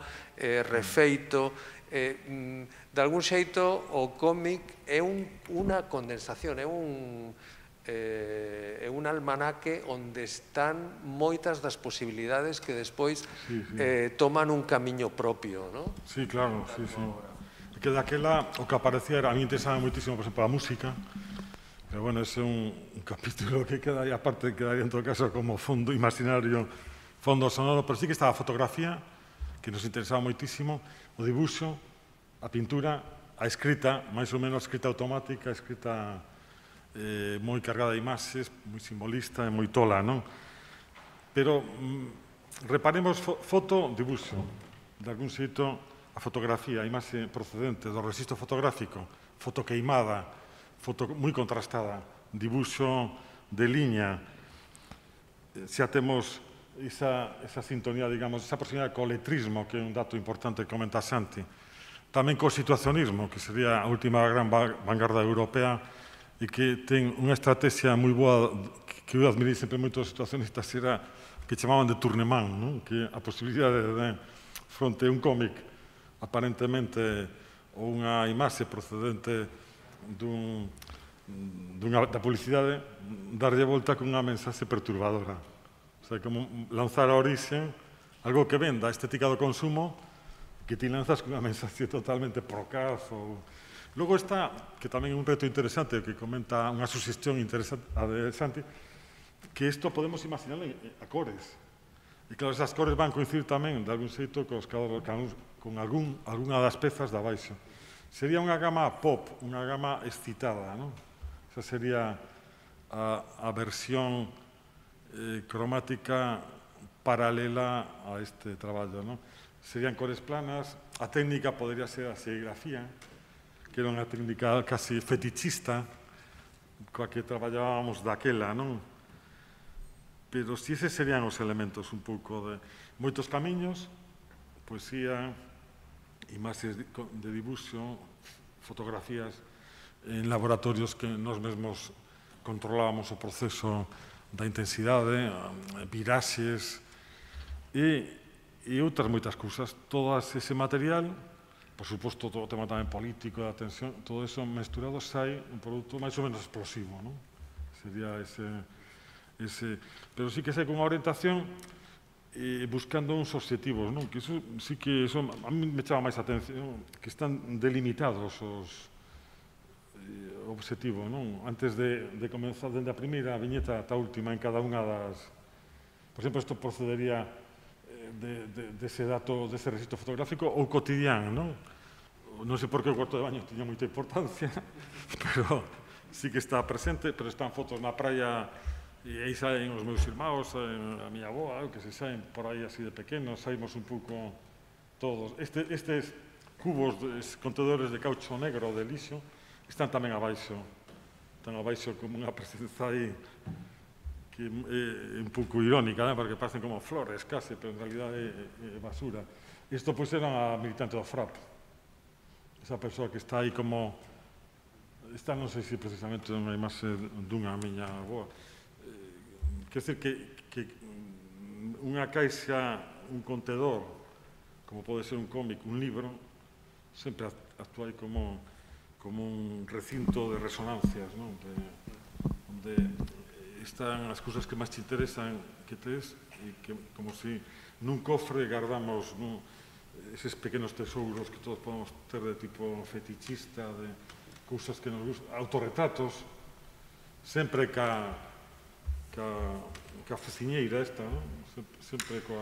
refeito. De algún xeito, o cómic é unha condensación, é un almanaque onde están moitas das posibilidades que despois toman un camiño propio, non? Sí, claro, sí. Que daquela o que aparecía era, a mí interesaba moitísimo, por exemplo, a música, pero bueno, ese é un capítulo que queda aí, aparte quedaría en todo caso como fondo imaginario, fondo sonoro, pero sí que estaba a fotografía, que nos interesaba moitísimo, o dibuixo, a pintura, a escrita, máis ou menos escrita automática, escrita moi cargada de imaxes, moi simbolista e moi tola, non? Pero reparemos foto, dibuixo, de algún xeito a fotografía, a imaxe procedente do registro fotográfico, foto queimada, foto moi contrastada, dibuixo de liña, xa temos esa sintonía, digamos, esa proximidade co letrismo, que é un dato importante que comenta Santi, tamén co situacionismo, que sería a última gran vanguarda europea e que ten unha estrategia moi boa que eu admirei sempre moito dos situacionistas, era que chamaban de tournement, que a posibilidade de, fronte a un cómic aparentemente ou unha imaxe procedente da publicidade, darlle volta con unha mensaxe perturbadora. O sea, como lanzar a orixe algo que venda a estética do consumo, que ti lanzas con unha mensaxe totalmente procaz. Logo está, que tamén é un reto interesante, que comenta unha suxestión interesante a de Santi, que isto podemos imaginar a cores. E claro, esas cores van coincidir tamén, de algún xeito, con algunha das pezas de abaixo. Sería unha gama pop, unha gama excitada, non? Esa sería a versión cromática paralela a este traballo, non? Serían cores planas, a técnica podría ser a serigrafía, que era unha técnica casi fetichista, coa que traballábamos daquela, non? Pero si eses serían os elementos un pouco de moitos camiños, poesía, imaxes de dibuixo, fotografías en laboratorios que nós mesmos controlábamos o proceso da intensidade, viraxes e outras moitas cousas. Todo ese material, por suposto, todo o tema tamén político, da tensión, todo eso mesturado sai un produto máis ou menos explosivo, non? Sería ese... Pero sí que sai con unha orientación buscando uns obxectivos, non? Que iso sí que a mí me chama máis atención, que están delimitados os obxectivos, non? Antes de comenzar dende a primeira viñeta ata a última en cada unha das... Por exemplo, isto procedería dese dato, dese registro fotográfico ou cotidiano, non? Non sei por que o cuarto de baño tiña moita importancia, pero sí que está presente, pero están fotos na praia e aí saen os meus irmãos, a miña avoa, que se saen por aí así de pequenos, saímos un pouco todos. Estes cubos, contedores de caucho negro de lixo, están tamén abaixo. Están abaixo como unha presenza aí que é un pouco irónica, porque parecen como flores case, pero en realidad é basura. Isto pois era a militante do FRAP. Esa persoa que está aí como... Esta non sei se precisamente unha imaxe dunha miña avoa. Quer dizer que unha caixa, un contedor, como pode ser un cómic, un libro, sempre actúa aí como un recinto de resonancias, non? Onde están as cousas que máis te interesan que tes e que, como se nun cofre guardamos eses pequenos tesouros que todos podemos ter de tipo fetichista, de cousas que nos gustan, autorretratos, sempre ca fociñeira esta, non? Sempre coa...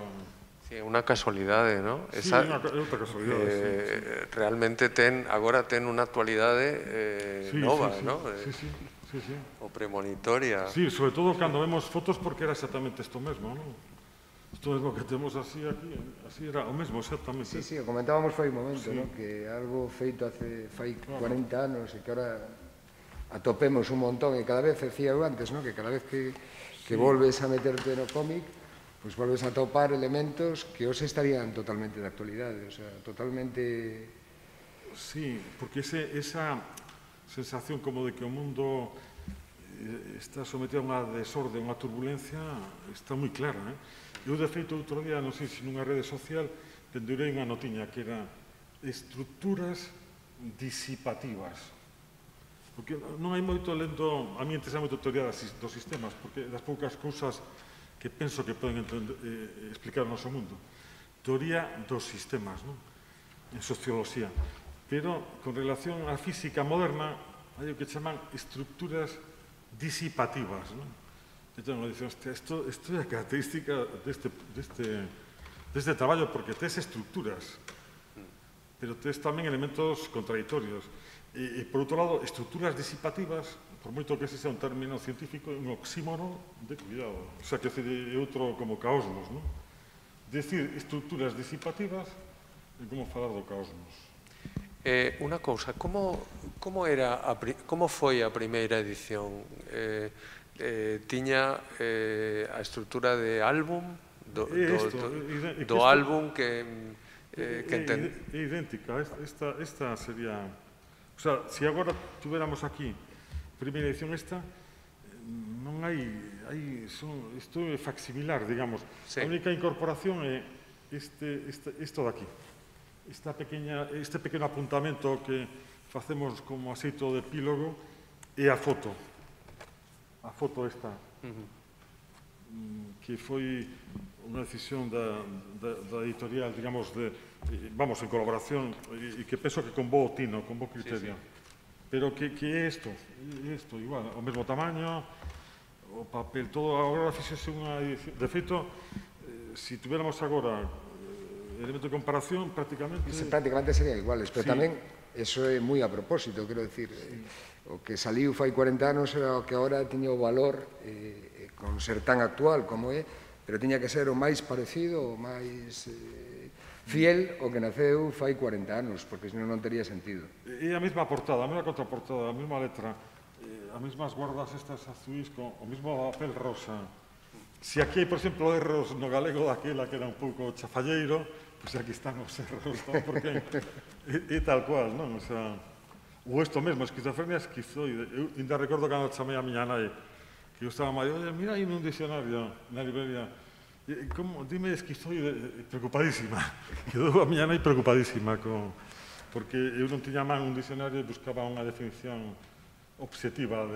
Sí, é unha casualidade, non? Sí, é outra casualidade. Realmente agora ten unha actualidade nova, non? Sí. O premonitoria. Sí, sobre todo cando vemos fotos porque era exactamente isto mesmo, non? Isto mesmo que temos así aquí, así era o mesmo exactamente. Sí, o comentábamos foi un momento, non? Que algo feito fai 40 anos e que ahora atopemos un montón e cada vez, decía eu antes, non? Que cada vez que volves a meterte no cómic pois volves a topar elementos que hoxe estarían totalmente de actualidade, o sea, totalmente... Sí, porque esa sensación como de que o mundo está sometido a unha desorde, a unha turbulencia, está moi clara. Eu, de feito, outro día, non sei se nunha rede social, pendurei unha notiña que era estructuras disipativas. Porque non hai moito lendo, a mí interesa moito teoría dos sistemas, porque das poucas cousas que penso que poden explicar o noso mundo. Teoría dos sistemas, non? En socioloxía. Pero, con relación á física moderna, hai o que chaman estructuras disipativas, non? Entón, dicen, hostia, isto é a característica deste traballo, porque tes estructuras, pero tes tamén elementos contradictorios. E, por outro lado, estructuras disipativas, por moito que ese sea un término científico, é un oxímoro de cuidado. O sea, que é outro como caosmos, non? Decir estructuras disipativas é como falar do caosmos. Unha cousa, como foi a primeira edición? Tiña a estrutura de álbum, do álbum que entende? É idéntica, esta sería... O sea, se agora tuviéramos aquí primeira edición esta, non hai... Isto é facsimilar, digamos. A única incorporación é isto daqui. Este pequeno apuntamento que facemos como xeito de epílogo é a foto. A foto esta. Que foi unha decisión da editorial, digamos, vamos, en colaboración, e que penso que con bo tino, con bo criterio. Pero que é isto? É isto, igual, o mesmo tamaño, o papel, todo. Agora fixese unha edición. De feito, se tuviéramos agora elemento de comparación, prácticamente... Prácticamente serían iguales, pero tamén, eso é moi a propósito, quero dicir, o que saliu fai 40 anos era o que agora tiña o valor con ser tan actual como é, pero tiña que ser o máis parecido, o máis fiel o que naceu fai 40 anos, porque senón non tería sentido. E a mesma portada, a mesma contraportada, a mesma letra, as mesmas guardas estas azuis, con o mesmo papel rosa. Se aquí hai, por exemplo, erros no galego daquela que era un pouco chafalleiro, pois aquí están os erros, non? Porque é tal cual, non? O sea, ou isto mesmo, esquizofrenia esquizoide. Eu ainda recordo cando chamei a miña nai, que eu estaba máis, oye, mira aí nun dicionario na librería, dime esquizoide, preocupadísima. Quedou a miña nai preocupadísima, porque eu non tiña man un dicionario e buscaba unha definición obxectiva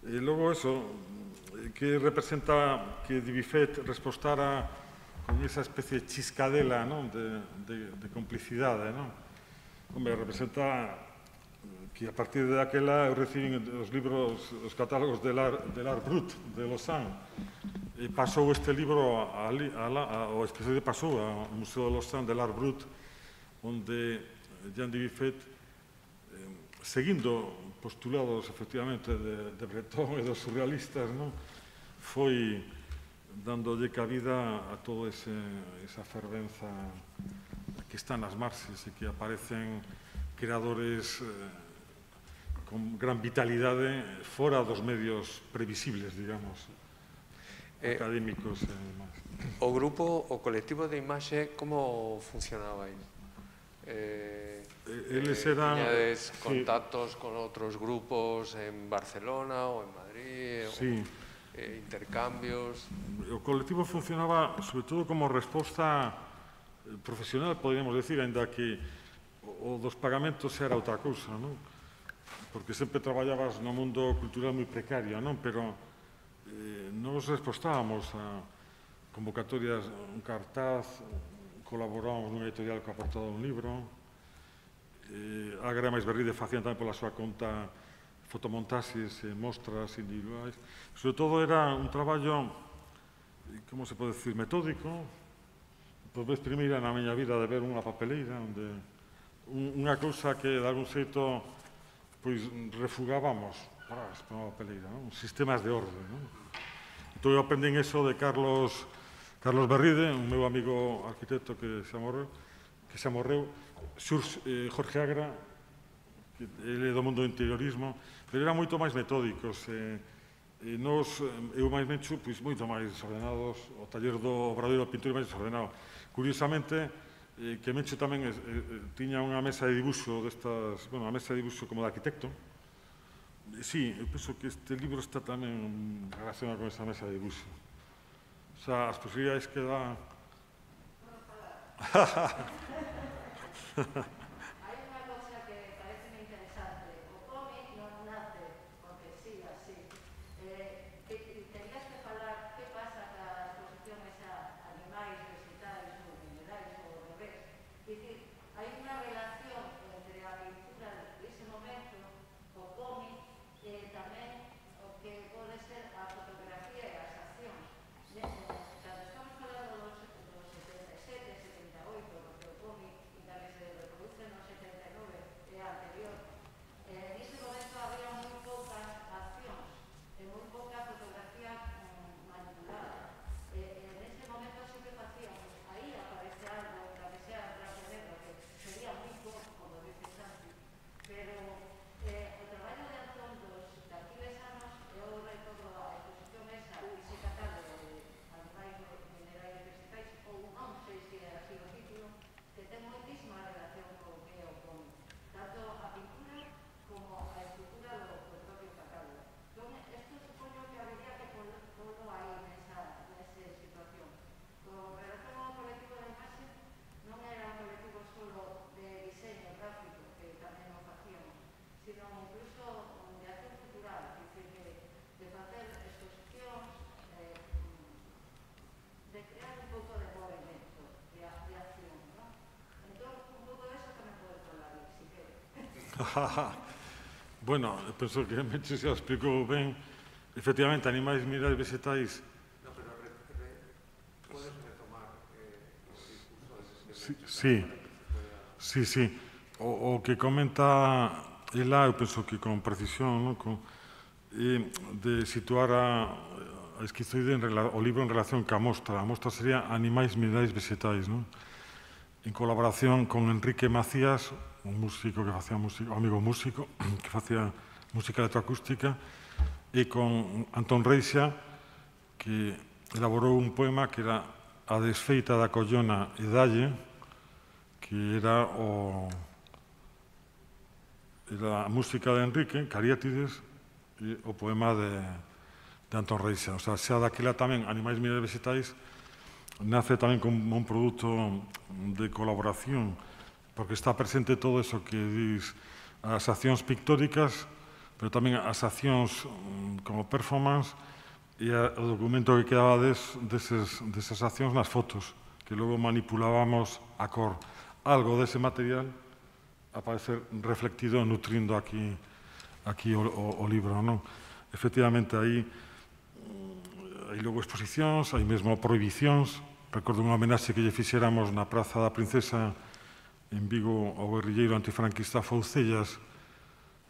e logo eso, que representa que Dibifet respostara con esa especie de chiscadela, non? De complicidade, non? Hombre, representa que a partir de aquela eu recibín os libros, os catálogos de l'Art Brut de Lausanne, e pasou este libro o especialmente pasou ao Museo de Lausanne de l'Art Brut, onde Jean Dibifet, seguindo postulados, efectivamente, de Breton e dos surrealistas, foi dándolle cabida a toda esa fervenza que está nas marxes e que aparecen creadores con gran vitalidade fora dos medios previsibles, digamos, académicos e demais. O grupo, o colectivo de imaxe, como funcionaba aí? Tiñades contactos con outros grupos en Barcelona ou en Madrid? Sí. Intercambios? O colectivo funcionaba, sobre todo, como resposta profesional, poderíamos decir, ainda que o dos pagamentos era outra cousa, non? Porque sempre traballabas no mundo cultural moi precario, non? Pero nos respostábamos a convocatorias, un cartaz, colaborábamos nunha editorial que aportaba un libro, Ágara máis Berride facían tamén pola súa conta fotomontaxes e mostras individuais. Sobre todo era un traballo, como se pode decir, metódico, por vez primeira na miña vida de ver unha papeleira, onde unha cousa que de algún xeito pois refugábamos para unha papeleira, sistemas de orde. Entón eu aprendín eso de Carlos Berride, un meu amigo arquitecto que xa morreu, Jorge Agra, ele é do mundo do interiorismo, pero eran moito máis metódicos, Eu máis mencho moito máis desordenados, o taller do Obradoiro da Pintura máis desordenado. Curiosamente, que mencho tamén tiña unha mesa de dibuixo destas, bueno, unha mesa de dibuixo como de arquitecto. Sí, eu penso que este libro está tamén relacionado con esa mesa de dibuixo. O sea, as posibilidades que dá... Hai unha cosa que parece interesante. O cómic non nace porque sí, así. Terías que falar que pasa ca exposición esa animais, vegetais ou minerais ou ao revés. Dicir, hai unha relación entre a pintura dese momento, o cómic, e tamén o que pode ser a fotografía e as accións. Cando estamos falando dos 77, 78, porque o cómic ainda que se reproduce no 79 é anterior, nese momento había moi poucas accións e moi pouca fotografía manipulada. Nese momento sí que facíamos, aí aparece algo, la que sea blanco e negro, que sería moi pouco, como dices antes, pero o traballo de Antón de Aquiles anos, eu recordo a exposición esa, ese catálogo de animais, minerais e vegetais, ou non sei se era así o título, que ten moitísima relación con o que é o cómic, tanto a pintura como a estructura do propio catálogo. Entón, isto supoño que habería que polo aí nesa situación. Con relación ao colectivo de imaxe, non era un colectivo solo de diseño gráfico, que tamén o facíamos, sino incluso de acción cultural, dicir, de facer exposicións, de crear un pouco de movimento, de acción, non? Entón, un pouco de eso tamén pode falar, si quere. Bueno, penso que Mencho xa explicou ben. Efectivamente, animais, minerais, vegetais... No, pero podes retomar o discurso Sí. O que comenta ela, eu penso que con precisión, de situar a esquizoide, o libro en relación ca mostra. A mostra sería Animais, minerais, vegetais, en colaboración con Enrique Macías, un músico que facía música, un amigo músico que facía música electroacústica, e con Antón Reixa, que elaborou un poema que era A desfeita da collona e dalle, que era a música de Enrique, Cariátides, e o poema de Antón Reixa. O sea, xa daquela tamén Animais, minerais, vegetais nace tamén como un produto de colaboración, porque está presente todo eso que dis, as accións pictóricas, pero tamén as accións como performance e o documento que quedaba desas accións nas fotos, que logo manipulábamos a cor. Algo dese material aparece reflectido, nutrindo aquí o libro, non? Efectivamente, aí logo exposicións, hai mesmo prohibicións. Recordo unha homenaxe que lle fixéramos na Praza da Princesa en Vigo ao guerrilleiro antifranquista Foucellas,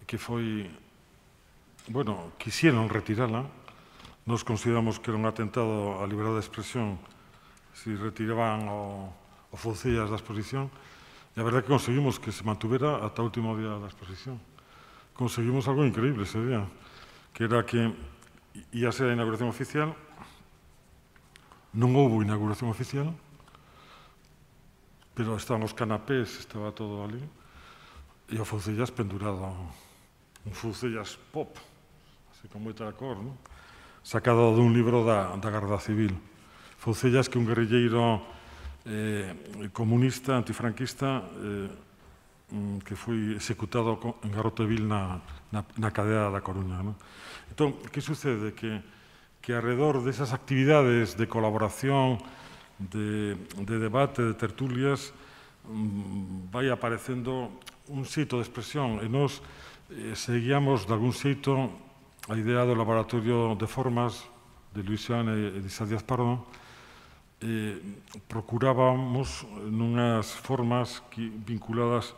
que foi, bueno, quixeron retirala. Nos consideramos que era un atentado á liberdade de expresión se retiraban o Foucellas da exposición. E a verdade que conseguimos que se mantuvera ata o último día da exposición. Conseguimos algo increíble ese día, que era que ia ser a inauguración oficial. Non houbo inauguración oficial, pero estaban os canapés, estaba todo ali, e o Foucellas pendurado, un Foucellas pop, así con moita cor, sacado dun libro da Garda Civil. Foucellas, que un guerrilleiro comunista, antifranquista, que foi executado en Garroteville na cadea da Coruña. Entón, que sucede? Que alrededor desas actividades de colaboración, de debate, de tertulias, vai aparecendo un xeito de expresión, e nos seguíamos de algún xeito a idea do laboratorio de formas de Luis Joan e de Isa Díaz Pardo. Procurábamos nunhas formas vinculadas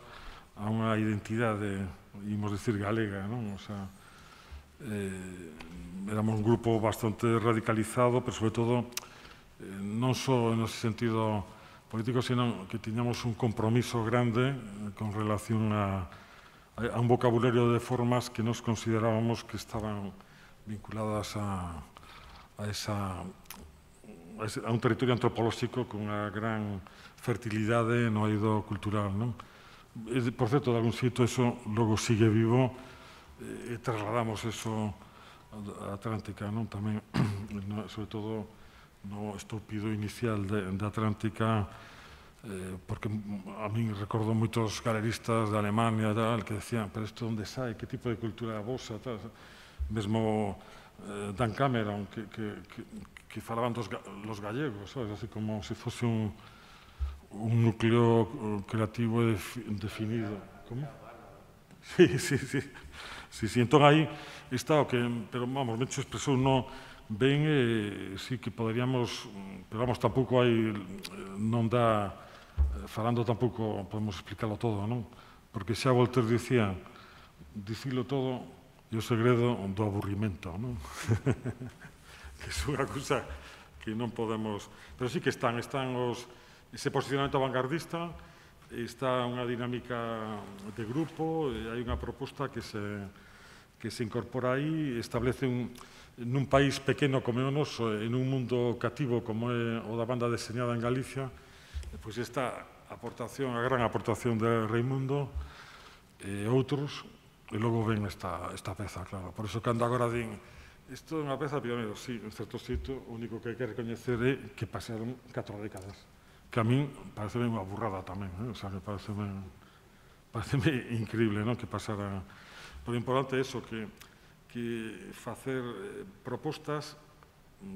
a unha identidade, imos decir, galega, non? O sea, éramos un grupo bastante radicalizado, pero sobre todo non só en ese sentido político, sino que tiñamos un compromiso grande con relación a un vocabulario de formas que nos considerábamos que estaban vinculadas a un territorio antropolóxico con unha gran fertilidade no eido cultural, non? Por certo, de algún xeito, eso logo sigue vivo e trasladamos eso a Atlántica, non? Tamén, sobre todo, no estúpido inicial de Atlántica, porque a min recordo moitos galeristas de Alemania que decían, pero isto onde sai, que tipo de cultura é a vosa, mesmo Dan Cameron, que falaban los gallegos, sabes? Así como se fose un núcleo creativo definido. Como? Sí. Entón aí está o que, pero vamos, ben se expresou ben, sí que poderíamos, pero vamos, tampouco hai, non dá, falando tampouco podemos explicarlo todo, non? Porque xa Voltaire dicía, dicilo todo e o segredo do aburrimento, non? Que é unha cousa que non podemos... Pero sí que están ese posicionamento vanguardista, está unha dinámica de grupo, hai unha proposta que se incorpora aí, establece nun país pequeno como é o noso, en un mundo cativo como é o da banda deseñada en Galicia, pois esta aportación, a gran aportación de Raimundo e outros, e logo ven esta peza, claro. Por iso, cando agora din, isto é unha peza pioneiro, sí, en certo sitio, o único que hai que recoñecer é que pasaron 4 décadas, que a min parece unha burrada tamén, o sea, que parece increíble, non? Que pasara... Pero o importante é eso, que facer propostas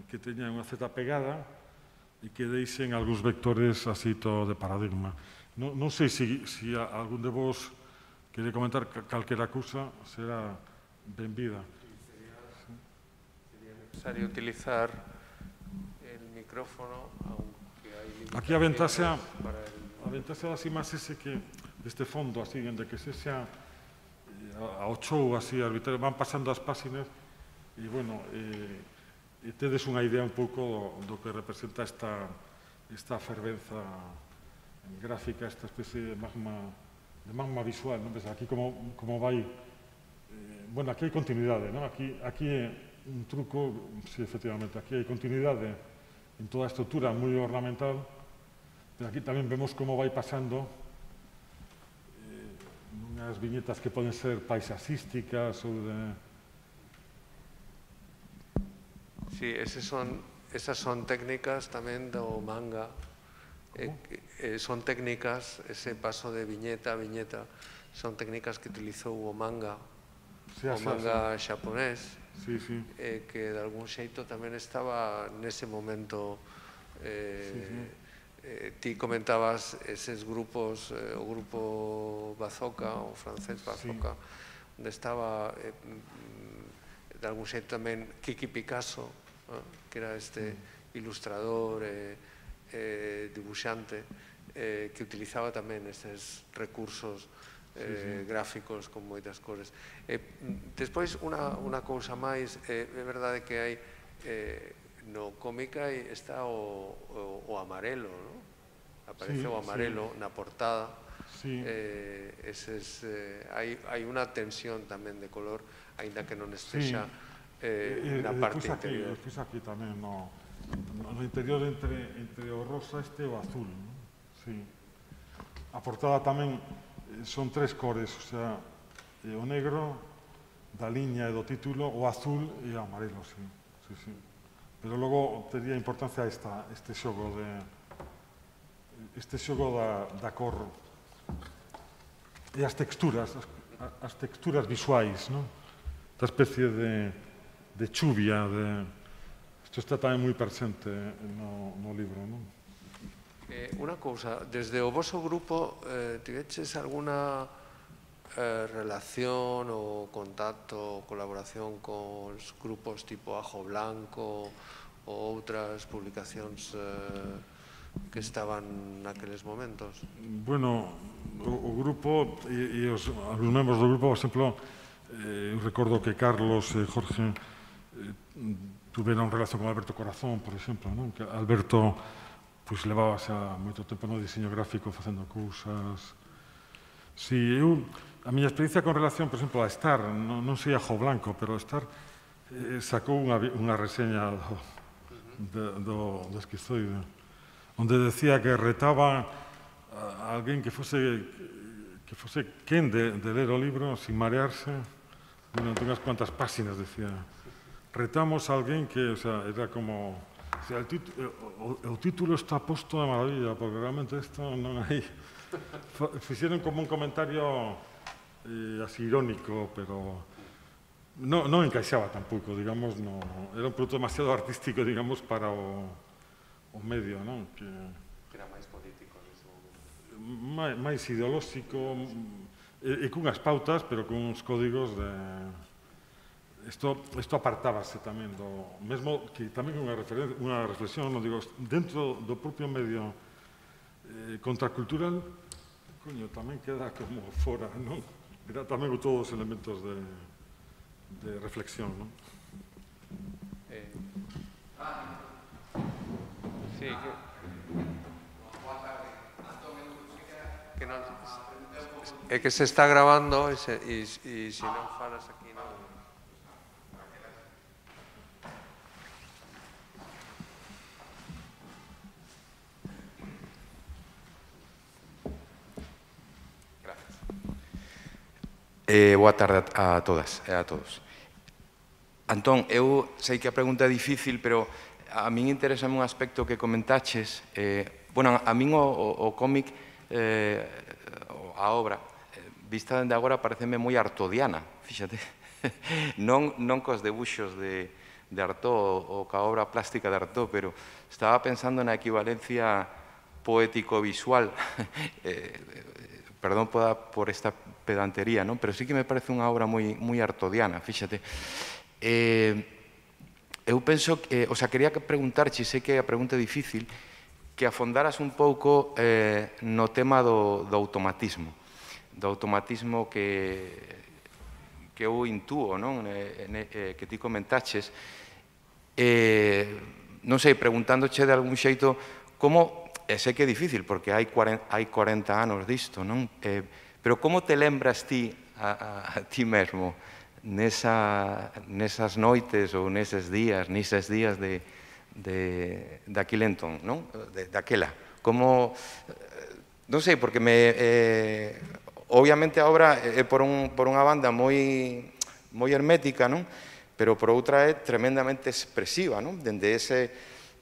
que teñan unha certa pegada e que deixen algúns vectores así todo de paradigma. Non sei se algún de vos quere comentar calquera cousa, será benvida. Sería necesario utilizar el micrófono, aunque hay limitaciones. Aquí a ventaxa das imaxes é que este fondo, así, onde que se xa ao show, así, arbitrario, van pasando as páxinas e, bueno, tedes unha idea un pouco do que representa esta fervenza gráfica, esta especie de magma visual, non? Aquí como vai... Bueno, aquí hai continuidade, non? Aquí é un truco, sí, efectivamente, aquí hai continuidade en toda a estrutura moi ornamental, pero aquí tamén vemos como vai pasando unhas viñetas que poden ser paisaxísticas ou de... Sí, esas son técnicas tamén do manga. Son técnicas, ese paso de viñeta a viñeta, son técnicas que utilizou o manga xaponés, que de algún xeito tamén estaba nese momento. Ti comentabas eses grupos, o grupo Bazooka, o francés Bazooka, onde estaba de algún xeito tamén Kiki Picasso, que era este ilustrador, dibuixante, que utilizaba tamén estes recursos gráficos con moitas cores. Despois, unha cousa máis, é verdade que hai no cómica está o amarelo, non? Aparece o amarelo na portada. Hai unha tensión tamén de color, aínda que non estexa na parte interior. Despois aquí tamén, no interior entre o rosa e o azul. A portada tamén son 3 cores, o sea, o negro da liña e do título, o azul e o amarelo, sí. Pero logo tería importancia este xogo da cor e as texturas visuais, non? Esta especie de chuvia, isto está tamén moi presente no libro, non? Unha cousa, desde o voso grupo tiveches alguna relación ou contacto ou colaboración con grupos tipo Ajo Blanco ou outras publicacións que estaban naqueles momentos? Bueno, o grupo e os membros do grupo, por exemplo, eu recordo que Carlos e Jorge tuveron relación con Alberto Corazón, por exemplo, non? Que Alberto levaba xa moito tempo no diseño gráfico facendo cousas. Si, a miña experiencia con relación, por exemplo, a Star, non sei a Ajo Blanco, pero a Star sacou unha reseña do Esquizoide, onde decía que retaba a alguén que fose quen de ler o libro sin marearse durante unhas cuantas páxinas, decía. Retamos a alguén que, o sea, era como... O sea, o título está posto de maravilla, porque realmente isto non hai... Fixeron como un comentario así irónico, pero non encaixaba tampouco, digamos, era un produto demasiado artístico, digamos, para o medio, non? Que era máis político nese momento. Máis ideolóxico, e cunhas pautas, pero cuns códigos de... Isto apartábase tamén do... Mesmo que tamén unha reflexión, non digo, dentro do propio medio contracultural, coño, tamén queda como fora, non? Era tamén todos os elementos de reflexión, non? Sí, é que se está grabando e se non falas aquí non... Boa tarde a todas e a todos. Antón, eu sei que a pregunta é difícil, pero a min interesa un aspecto que comentaches. Bueno, a min o cómic, a obra, vista dende agora, pareceme moi artodiana, fíxate. Non cos debuxos de Artaud ou ca obra plástica de Artaud, pero estaba pensando na equivalencia poético-visual. Perdón por esta pedantería, non? Pero sí que me parece unha obra moi artodiana, fíxate. Eu penso que, o sea, quería preguntarche, sei que a pregunta é difícil, que afondaras un pouco no tema do automatismo que eu intúo, non? Que ti comentaches. Non sei, preguntándoche de algún xeito, como, sei que é difícil, porque hai 40 anos disto, non? Pero como te lembras ti a ti mesmo nesas noites ou neses días daquele entón, non? Daquela. Como, non sei, porque obviamente a obra é por unha banda moi hermética, non? Pero por outra é tremendamente expresiva, non? Dende ese,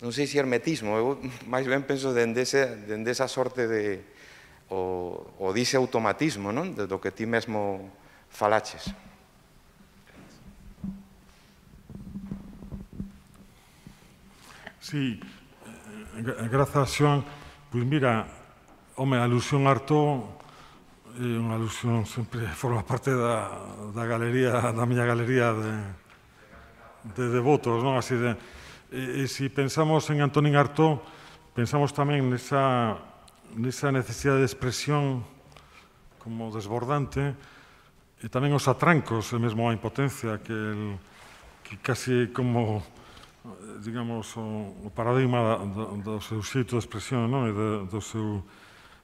non sei se hermetismo, eu máis ben penso dende esa sorte de o dice automatismo, non? Do que ti mesmo falaches. Sí, grazas, Xoan. Pois mira, home, a alusión a Artaud é unha alusión, sempre forma parte da galería, da miña galería de devotos, non? Así de... E se pensamos en Antonín Artaud, pensamos tamén nesa necesidade de expresión como desbordante e tamén os atrancos, e mesmo a impotencia que casi como, digamos, o paradigma do seu xeito de expresión, non? E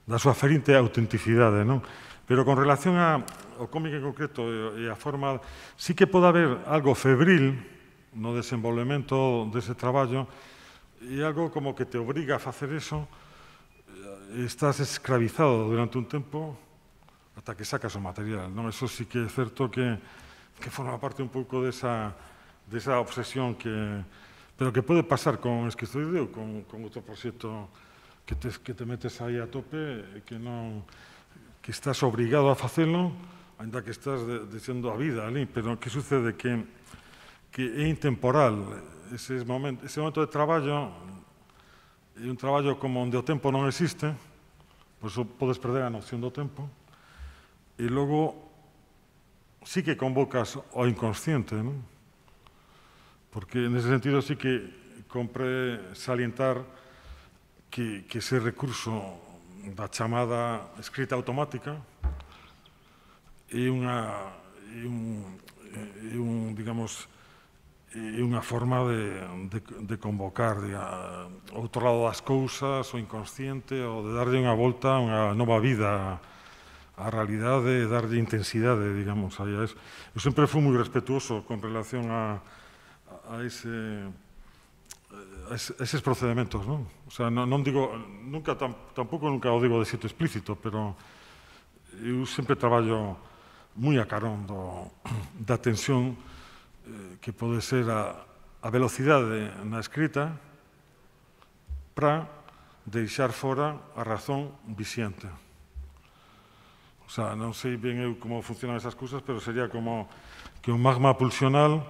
da súa ferinte autenticidade, non? Pero con relación ao cómic en concreto e a forma, sí que pode haber algo febril no desenvolvemento dese traballo e algo como que te obriga a facer eso. Estás escravizado durante un tempo ata que sacas o material, non? Eso sí que é certo que forma parte un pouco desa obsesión pero que pode pasar con Esquizoide ou con outro proxecto que te metes aí a tope e que estás obrigado a facelo, ainda que estás desendo a vida ali, pero que sucede que é intemporal ese momento de traballo. É un traballo como onde o tempo non existe, por iso podes perder a noción do tempo, e logo sí que convocas ao inconsciente, non? Porque nese sentido sí que compre salientar que ese recurso da chamada escrita automática é unha forma de convocar outro lado das cousas, o inconsciente, ou de darlle unha volta, unha nova vida á realidade, darlle intensidade, digamos. Eu sempre fui moi respetuoso con relación a eses procedementos, non? O sea, non digo, tampouco nunca o digo de xeito explícito, pero eu sempre traballo moi a carón da tensión que pode ser a velocidade na escrita para deixar fora a razón vixente. O sea, non sei ben eu como funcionan esas cousas, pero sería como que un magma pulsional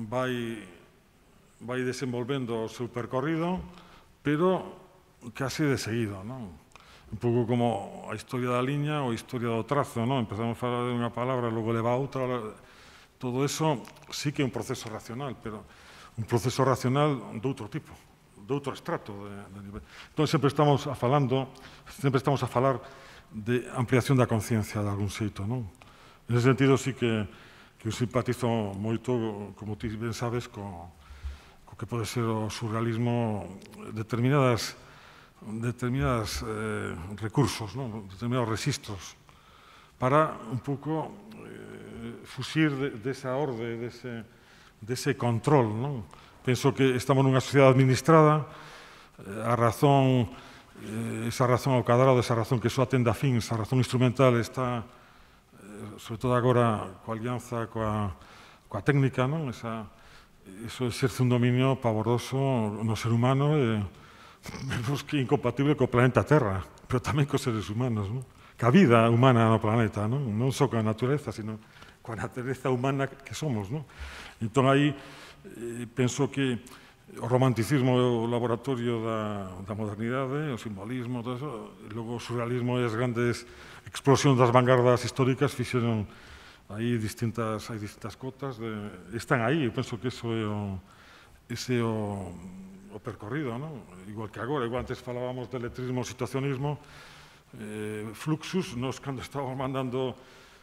vai desenvolvendo o seu percorrido, pero casi de seguido, non? Un pouco como a historia da liña ou a historia do trazo, non? Empezamos a falar de unha palabra, logo leva a outra. Todo eso sí que é un proceso racional, pero un proceso racional de outro tipo, de outro estrato. Entón, sempre estamos a falar de ampliación da conciencia de algún xeito, non? En ese sentido, sí que eu simpatizo moito, como ti ben sabes, co que pode ser o surrealismo, determinados recursos, non? Determinados registros, para un pouco fuxir desa orde, dese control, non? Penso que estamos nunha sociedade administrada, a razón, esa razón ao cadrado, esa razón que só atende a fins, a razón instrumental está, sobre todo agora, coa alianza coa técnica, non? Eso exerce un dominio pavoroso no ser humano e menos que incompatible co planeta Terra, pero tamén cos seres humanos, non? Que a vida humana no planeta, non? Non só coa natureza, sino coa natureza humana que somos, non? Entón, aí, penso que o romanticismo é o laboratorio da modernidade, o simbolismo, todo eso, e logo o surrealismo e as grandes explosións das vanguardas históricas fixeron aí distintas cotas, están aí, eu penso que ese é o percorrido, non? Igual que agora, igual antes falábamos de letrismo, situacionismo, fluxus, nos cando estábamos mandando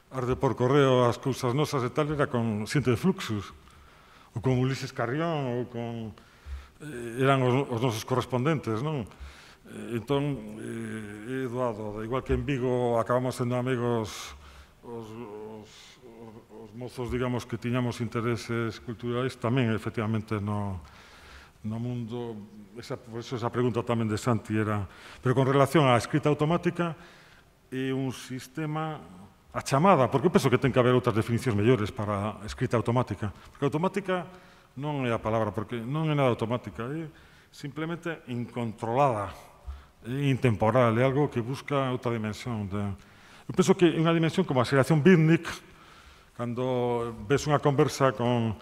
arde por correo as cousas nosas e tal, era con xente de fluxus, ou con Ulises Carrión, ou con... eran os nosos correspondentes, non? Entón, é doado, igual que en Vigo acabamos sendo amigos os mozos, digamos, que tiñamos intereses culturais, tamén, efectivamente, no mundo, por eso esa pregunta tamén de Santi era, pero con relación á escrita automática, é un sistema, a chamada, porque eu penso que ten que haber outras definicións mellores para a escrita automática, porque automática non é a palabra, porque non é nada automática, é simplemente incontrolada, é intemporal, é algo que busca outra dimensión. Eu penso que é unha dimensión como a xeración beatnik, cando ves unha conversa con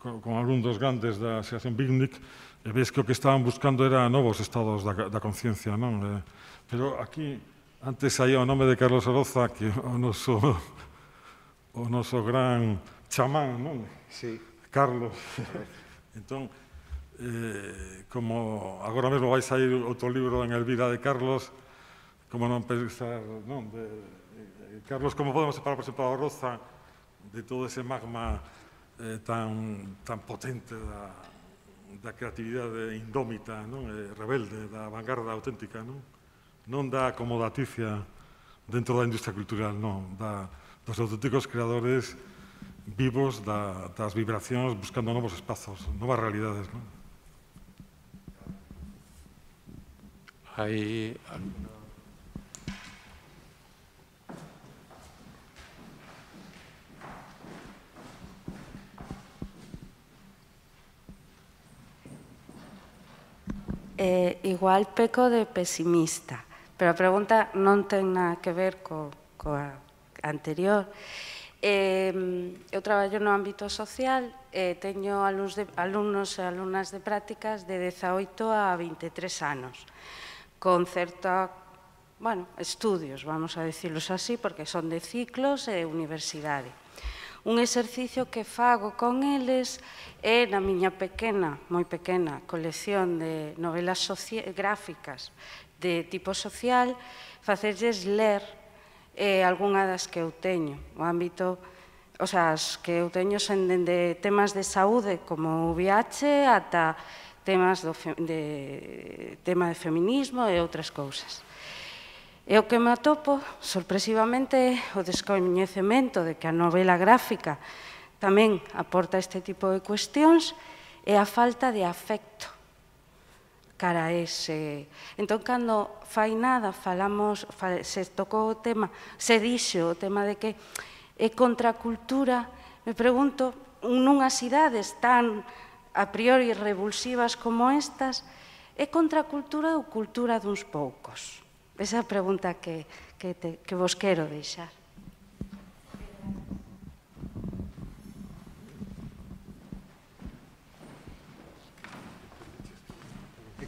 algún dos grandes da xeración beatnik, e ves que o que estaban buscando era novos estados da conciencia, non? Pero aquí, antes saía o nome de Carlos Oroza, que o noso gran chamán, non? Sí. Carlos. Entón, como agora mesmo vai sair outro libro en Elvira de Carlos, como non pensar, non? Carlos, como podemos separar, por exemplo, a Oroza de todo ese magma tan potente da creatividade indómita, rebelde, da vanguarda auténtica, non da acomodaticia dentro da industria cultural, non, dos auténticos creadores vivos das vibracións buscando novos espazos, novas realidades. Hai igual peco de pesimista, pero a pregunta non ten nada que ver coa anterior. Eu traballo no ámbito social e teño alumnos e alumnas de prácticas de 18 a 23 anos, con certa, estudios, vamos a decirlos así, porque son de ciclos e universidade. Un exercicio que fago con eles é na miña pequena, moi pequena, colección de novelas gráficas de tipo social, facerlles ler algunha das que eu teño. O ámbito, as que eu teño son dende temas de saúde como o VIH ata temas de feminismo e outras cousas. E o que me atopo, sorpresivamente, o descoñecemento de que a novela gráfica tamén aporta este tipo de cuestións, é a falta de afecto cara a ese. Entón, cando fai nada, se tocou o tema, se dixo o tema de que é contracultura, me pregunto, nunhas cidades tan a priori revulsivas como estas, é contracultura ou cultura duns poucos? Esa é a pregunta que vos quero deixar.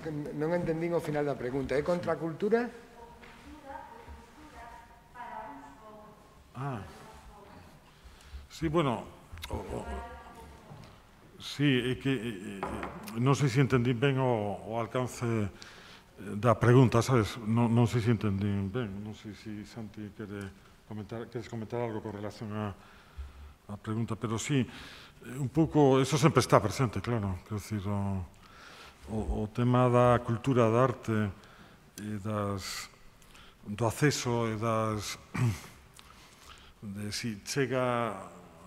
Non entendín o final da pregunta. É contracultura? Sí, bueno, sí, é que non sei se entendín ben o alcance da pregunta, sabes? Non sei se entendín ben, non sei se Santi queres comentar algo con relación á pregunta, pero sí, un pouco, eso sempre está presente, claro, quero dicir, o tema da cultura, da arte e do acceso e de si chega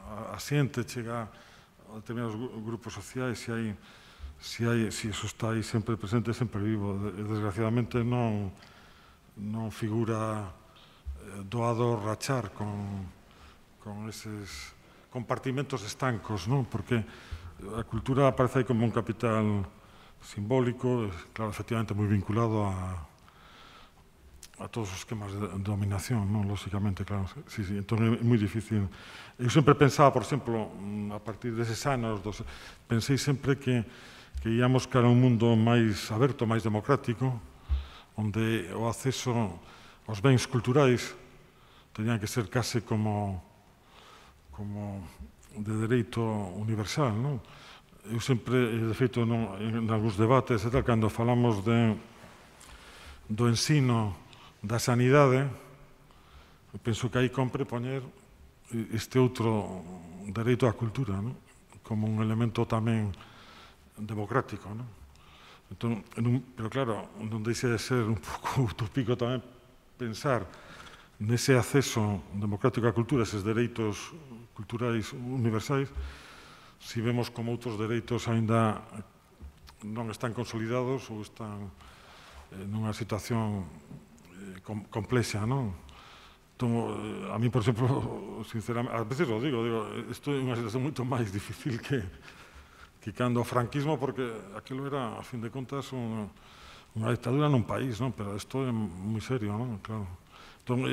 a xente, chega a determinados grupos sociais, si eso está aí sempre presente, sempre vivo. Desgraciadamente non figura doado rachar con eses compartimentos estancos, non? Porque a cultura aparece aí como un capital simbólico, claro, efectivamente moi vinculado a todos os esquemas de dominación, non? Lóxicamente, claro. Sí, entón é moi difícil. Eu sempre pensaba, por exemplo, a partir deses anos, pensei sempre que íamos cara a un mundo máis aberto, máis democrático, onde o acceso aos bens culturais tenían que ser case como de dereito universal, non? Eu sempre, de feito, en algúns debates, cando falamos do ensino da sanidade, penso que aí compre poñer este outro dereito á cultura, non? Como un elemento tamén democrático, non? Entón, pero claro, non deixa de ser un pouco utópico tamén pensar nese acceso democrático á cultura, eses dereitos culturais universais, si vemos como outros dereitos aínda non están consolidados ou están nunha situación complexa, non? Entón, a mí, por exemplo, sinceramente, a veces o digo, isto é unha situación moito máis difícil que cando o franquismo, porque aquilo era, a fin de contas, unha dictadura nun país, non? Pero isto é moi serio, non? Claro. Entón,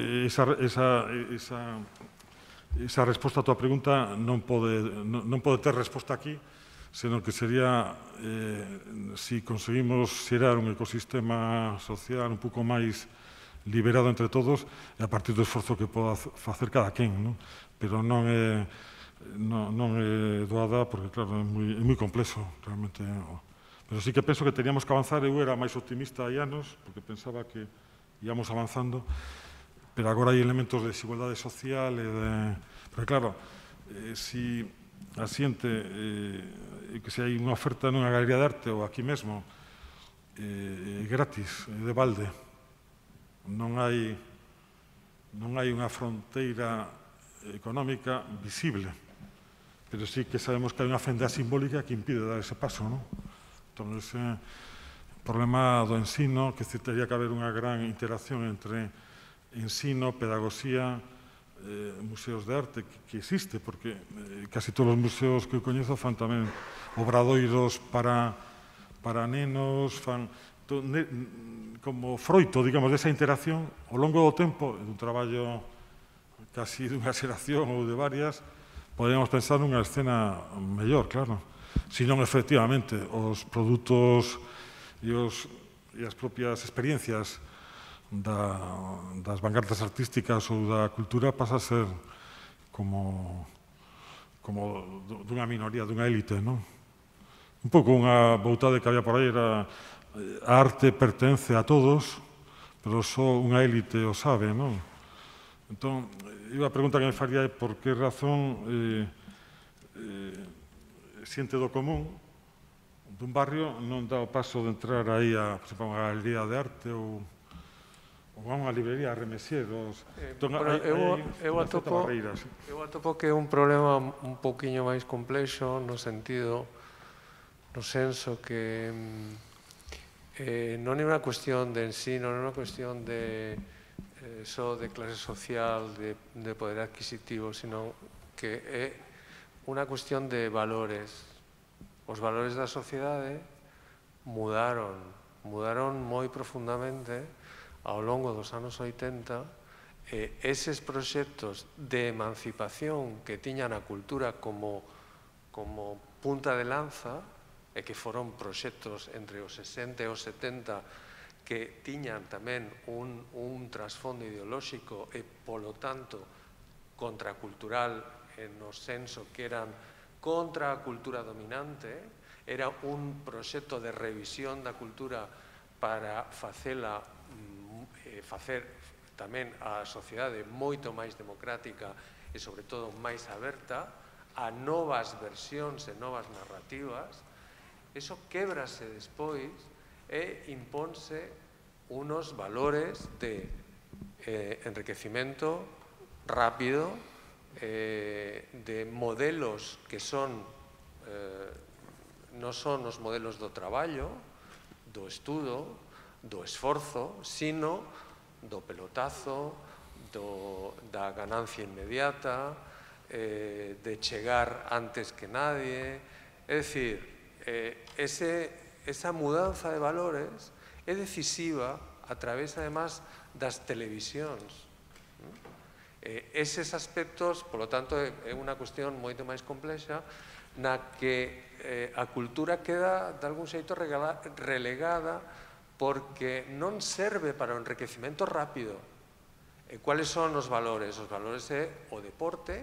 esa resposta a tua pregunta non pode ter resposta aquí, senón que sería si conseguimos xerar un ecosistema social un pouco máis liberado entre todos e a partir do esforzo que poda facer cada quen, non? Pero non é doada porque, claro, é moi complexo, realmente. Pero sí que penso que teníamos que avanzar. Eu era máis optimista hai anos, porque pensaba que íamos avanzando, pero agora hai elementos de desigualdade social e Pero, claro, si a xente, que se hai unha oferta nunha galería de arte ou aquí mesmo, gratis, de balde, non hai unha fronteira económica visible, pero sí que sabemos que hai unha fenda simbólica que impide dar ese paso, non? Entón, ese problema do ensino, que teria que haber unha gran interacción entre ensino, pedagogía, museos de arte, que existe, porque casi todos os museos que eu coñezo fan tamén obradoiros para nenos, fan como froito, digamos, desa interacción ao longo do tempo, dun traballo casi dunha xeración ou de varias, podemos pensar nunha escena mellor, claro. Senón, efectivamente, os produtos e as propias experiencias das vanguardas artísticas ou da cultura pasa a ser como dunha minoría, dunha élite, non? Un pouco unha voutade que había por aí era a arte pertence a todos, pero só unha élite o sabe, non? Entón, a pregunta que me faría é por que razón xente do común dun barrio non dá o paso de entrar aí a, por exemplo, a unha galería de arte ou ou a unha librería remesieros. Eu atopo que é un problema un pouquiño máis complexo no sentido, no senso que non é unha cuestión de ensino, non é unha cuestión de só de clase social, de poder adquisitivo, sino que é unha cuestión de valores. Os valores da sociedade mudaron moi profundamente ao longo dos anos 80, eses proxectos de emancipación que tiñan a cultura como punta de lanza, e que foron proxectos entre os 60 e os 70 que tiñan tamén un trasfondo ideolóxico e, polo tanto, contracultural no senso que eran contra a cultura dominante, era un proxecto de revisión da cultura para facer tamén a sociedade moito máis democrática e, sobre todo, máis aberta a novas versións e novas narrativas. Eso québrase despois e imponse unos valores de enriquecimento rápido, de modelos que son non son os modelos do traballo, do estudo, do esforzo, sino do pelotazo, da ganancia inmediata, de chegar antes que nadie. É dicir, esa mudanza de valores é decisiva a través, además, das televisións. Eses aspectos, polo tanto, é unha cuestión moito máis complexa na que a cultura queda, de algún xeito, relegada porque non serve para o enriquecimento rápido. E cuáles son os valores? Os valores é o deporte,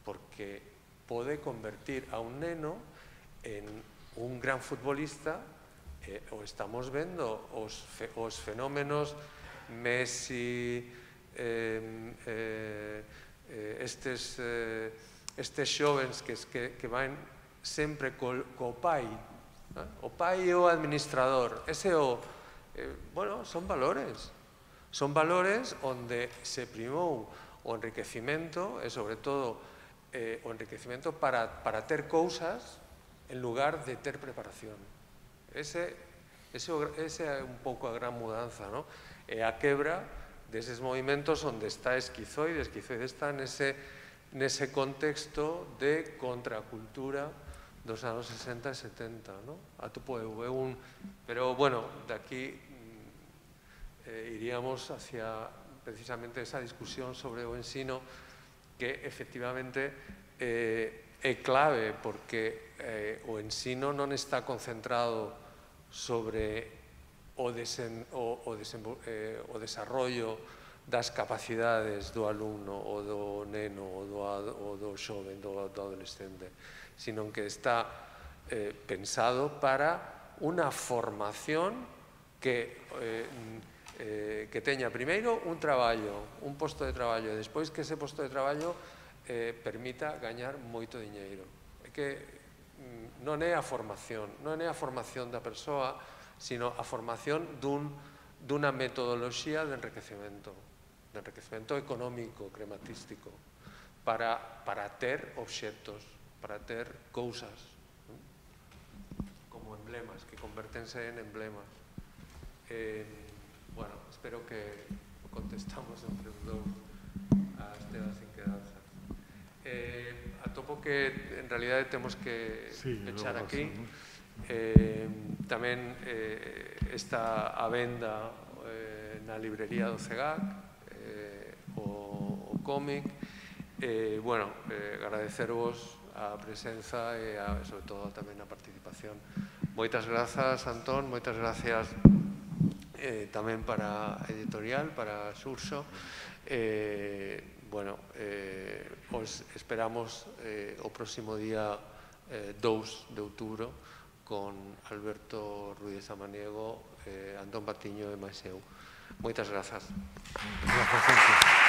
porque pode convertir a un neno en un gran futbolista, o estamos vendo os fenómenos Messi, estes xovens que van sempre co pai, o pai é o administrador, son valores onde se primou o enriquecimento e, sobre todo, o enriquecimento para ter cousas en lugar de ter preparación. Ese é un pouco a gran mudanza, e a quebra deses movimentos onde está Esquizoide. Esquizoide está nese contexto de contracultura dos anos 60 e 70, atopo eu. Pero, bueno, de aquí iríamos hacia precisamente esa discusión sobre o ensino que efectivamente é clave, porque o ensino non está concentrado sobre o desarrollo das capacidades do alumno ou do neno ou do xoven, do adolescente, sino que está pensado para unha formación que teña primeiro un traballo, un posto de traballo, e despois que ese posto de traballo permita gañar moito diñeiro. É que non é a formación da persoa, sino a formación dunha metodoloxía de enriquecemento económico, crematístico, para ter obxectos, para ter cousas, como emblemas, que convertense en emblemas. Bueno, espero que contestamos entre os dous as temas inquedanzas. Atopo que, en realidade, temos que pechar aquí. Tamén está a venda na librería do CEGAC o cómic. Bueno, agradecervos a presenza e, sobre todo, tamén a participación. Moitas grazas, Antón, moitas gracias tamén para a editorial, para Xurxo. Bueno, os esperamos o próximo día 2 de outubro con Alberto Ruiz Samaniego, Antón Patiño e máis eu. Moitas grazas. Gracias.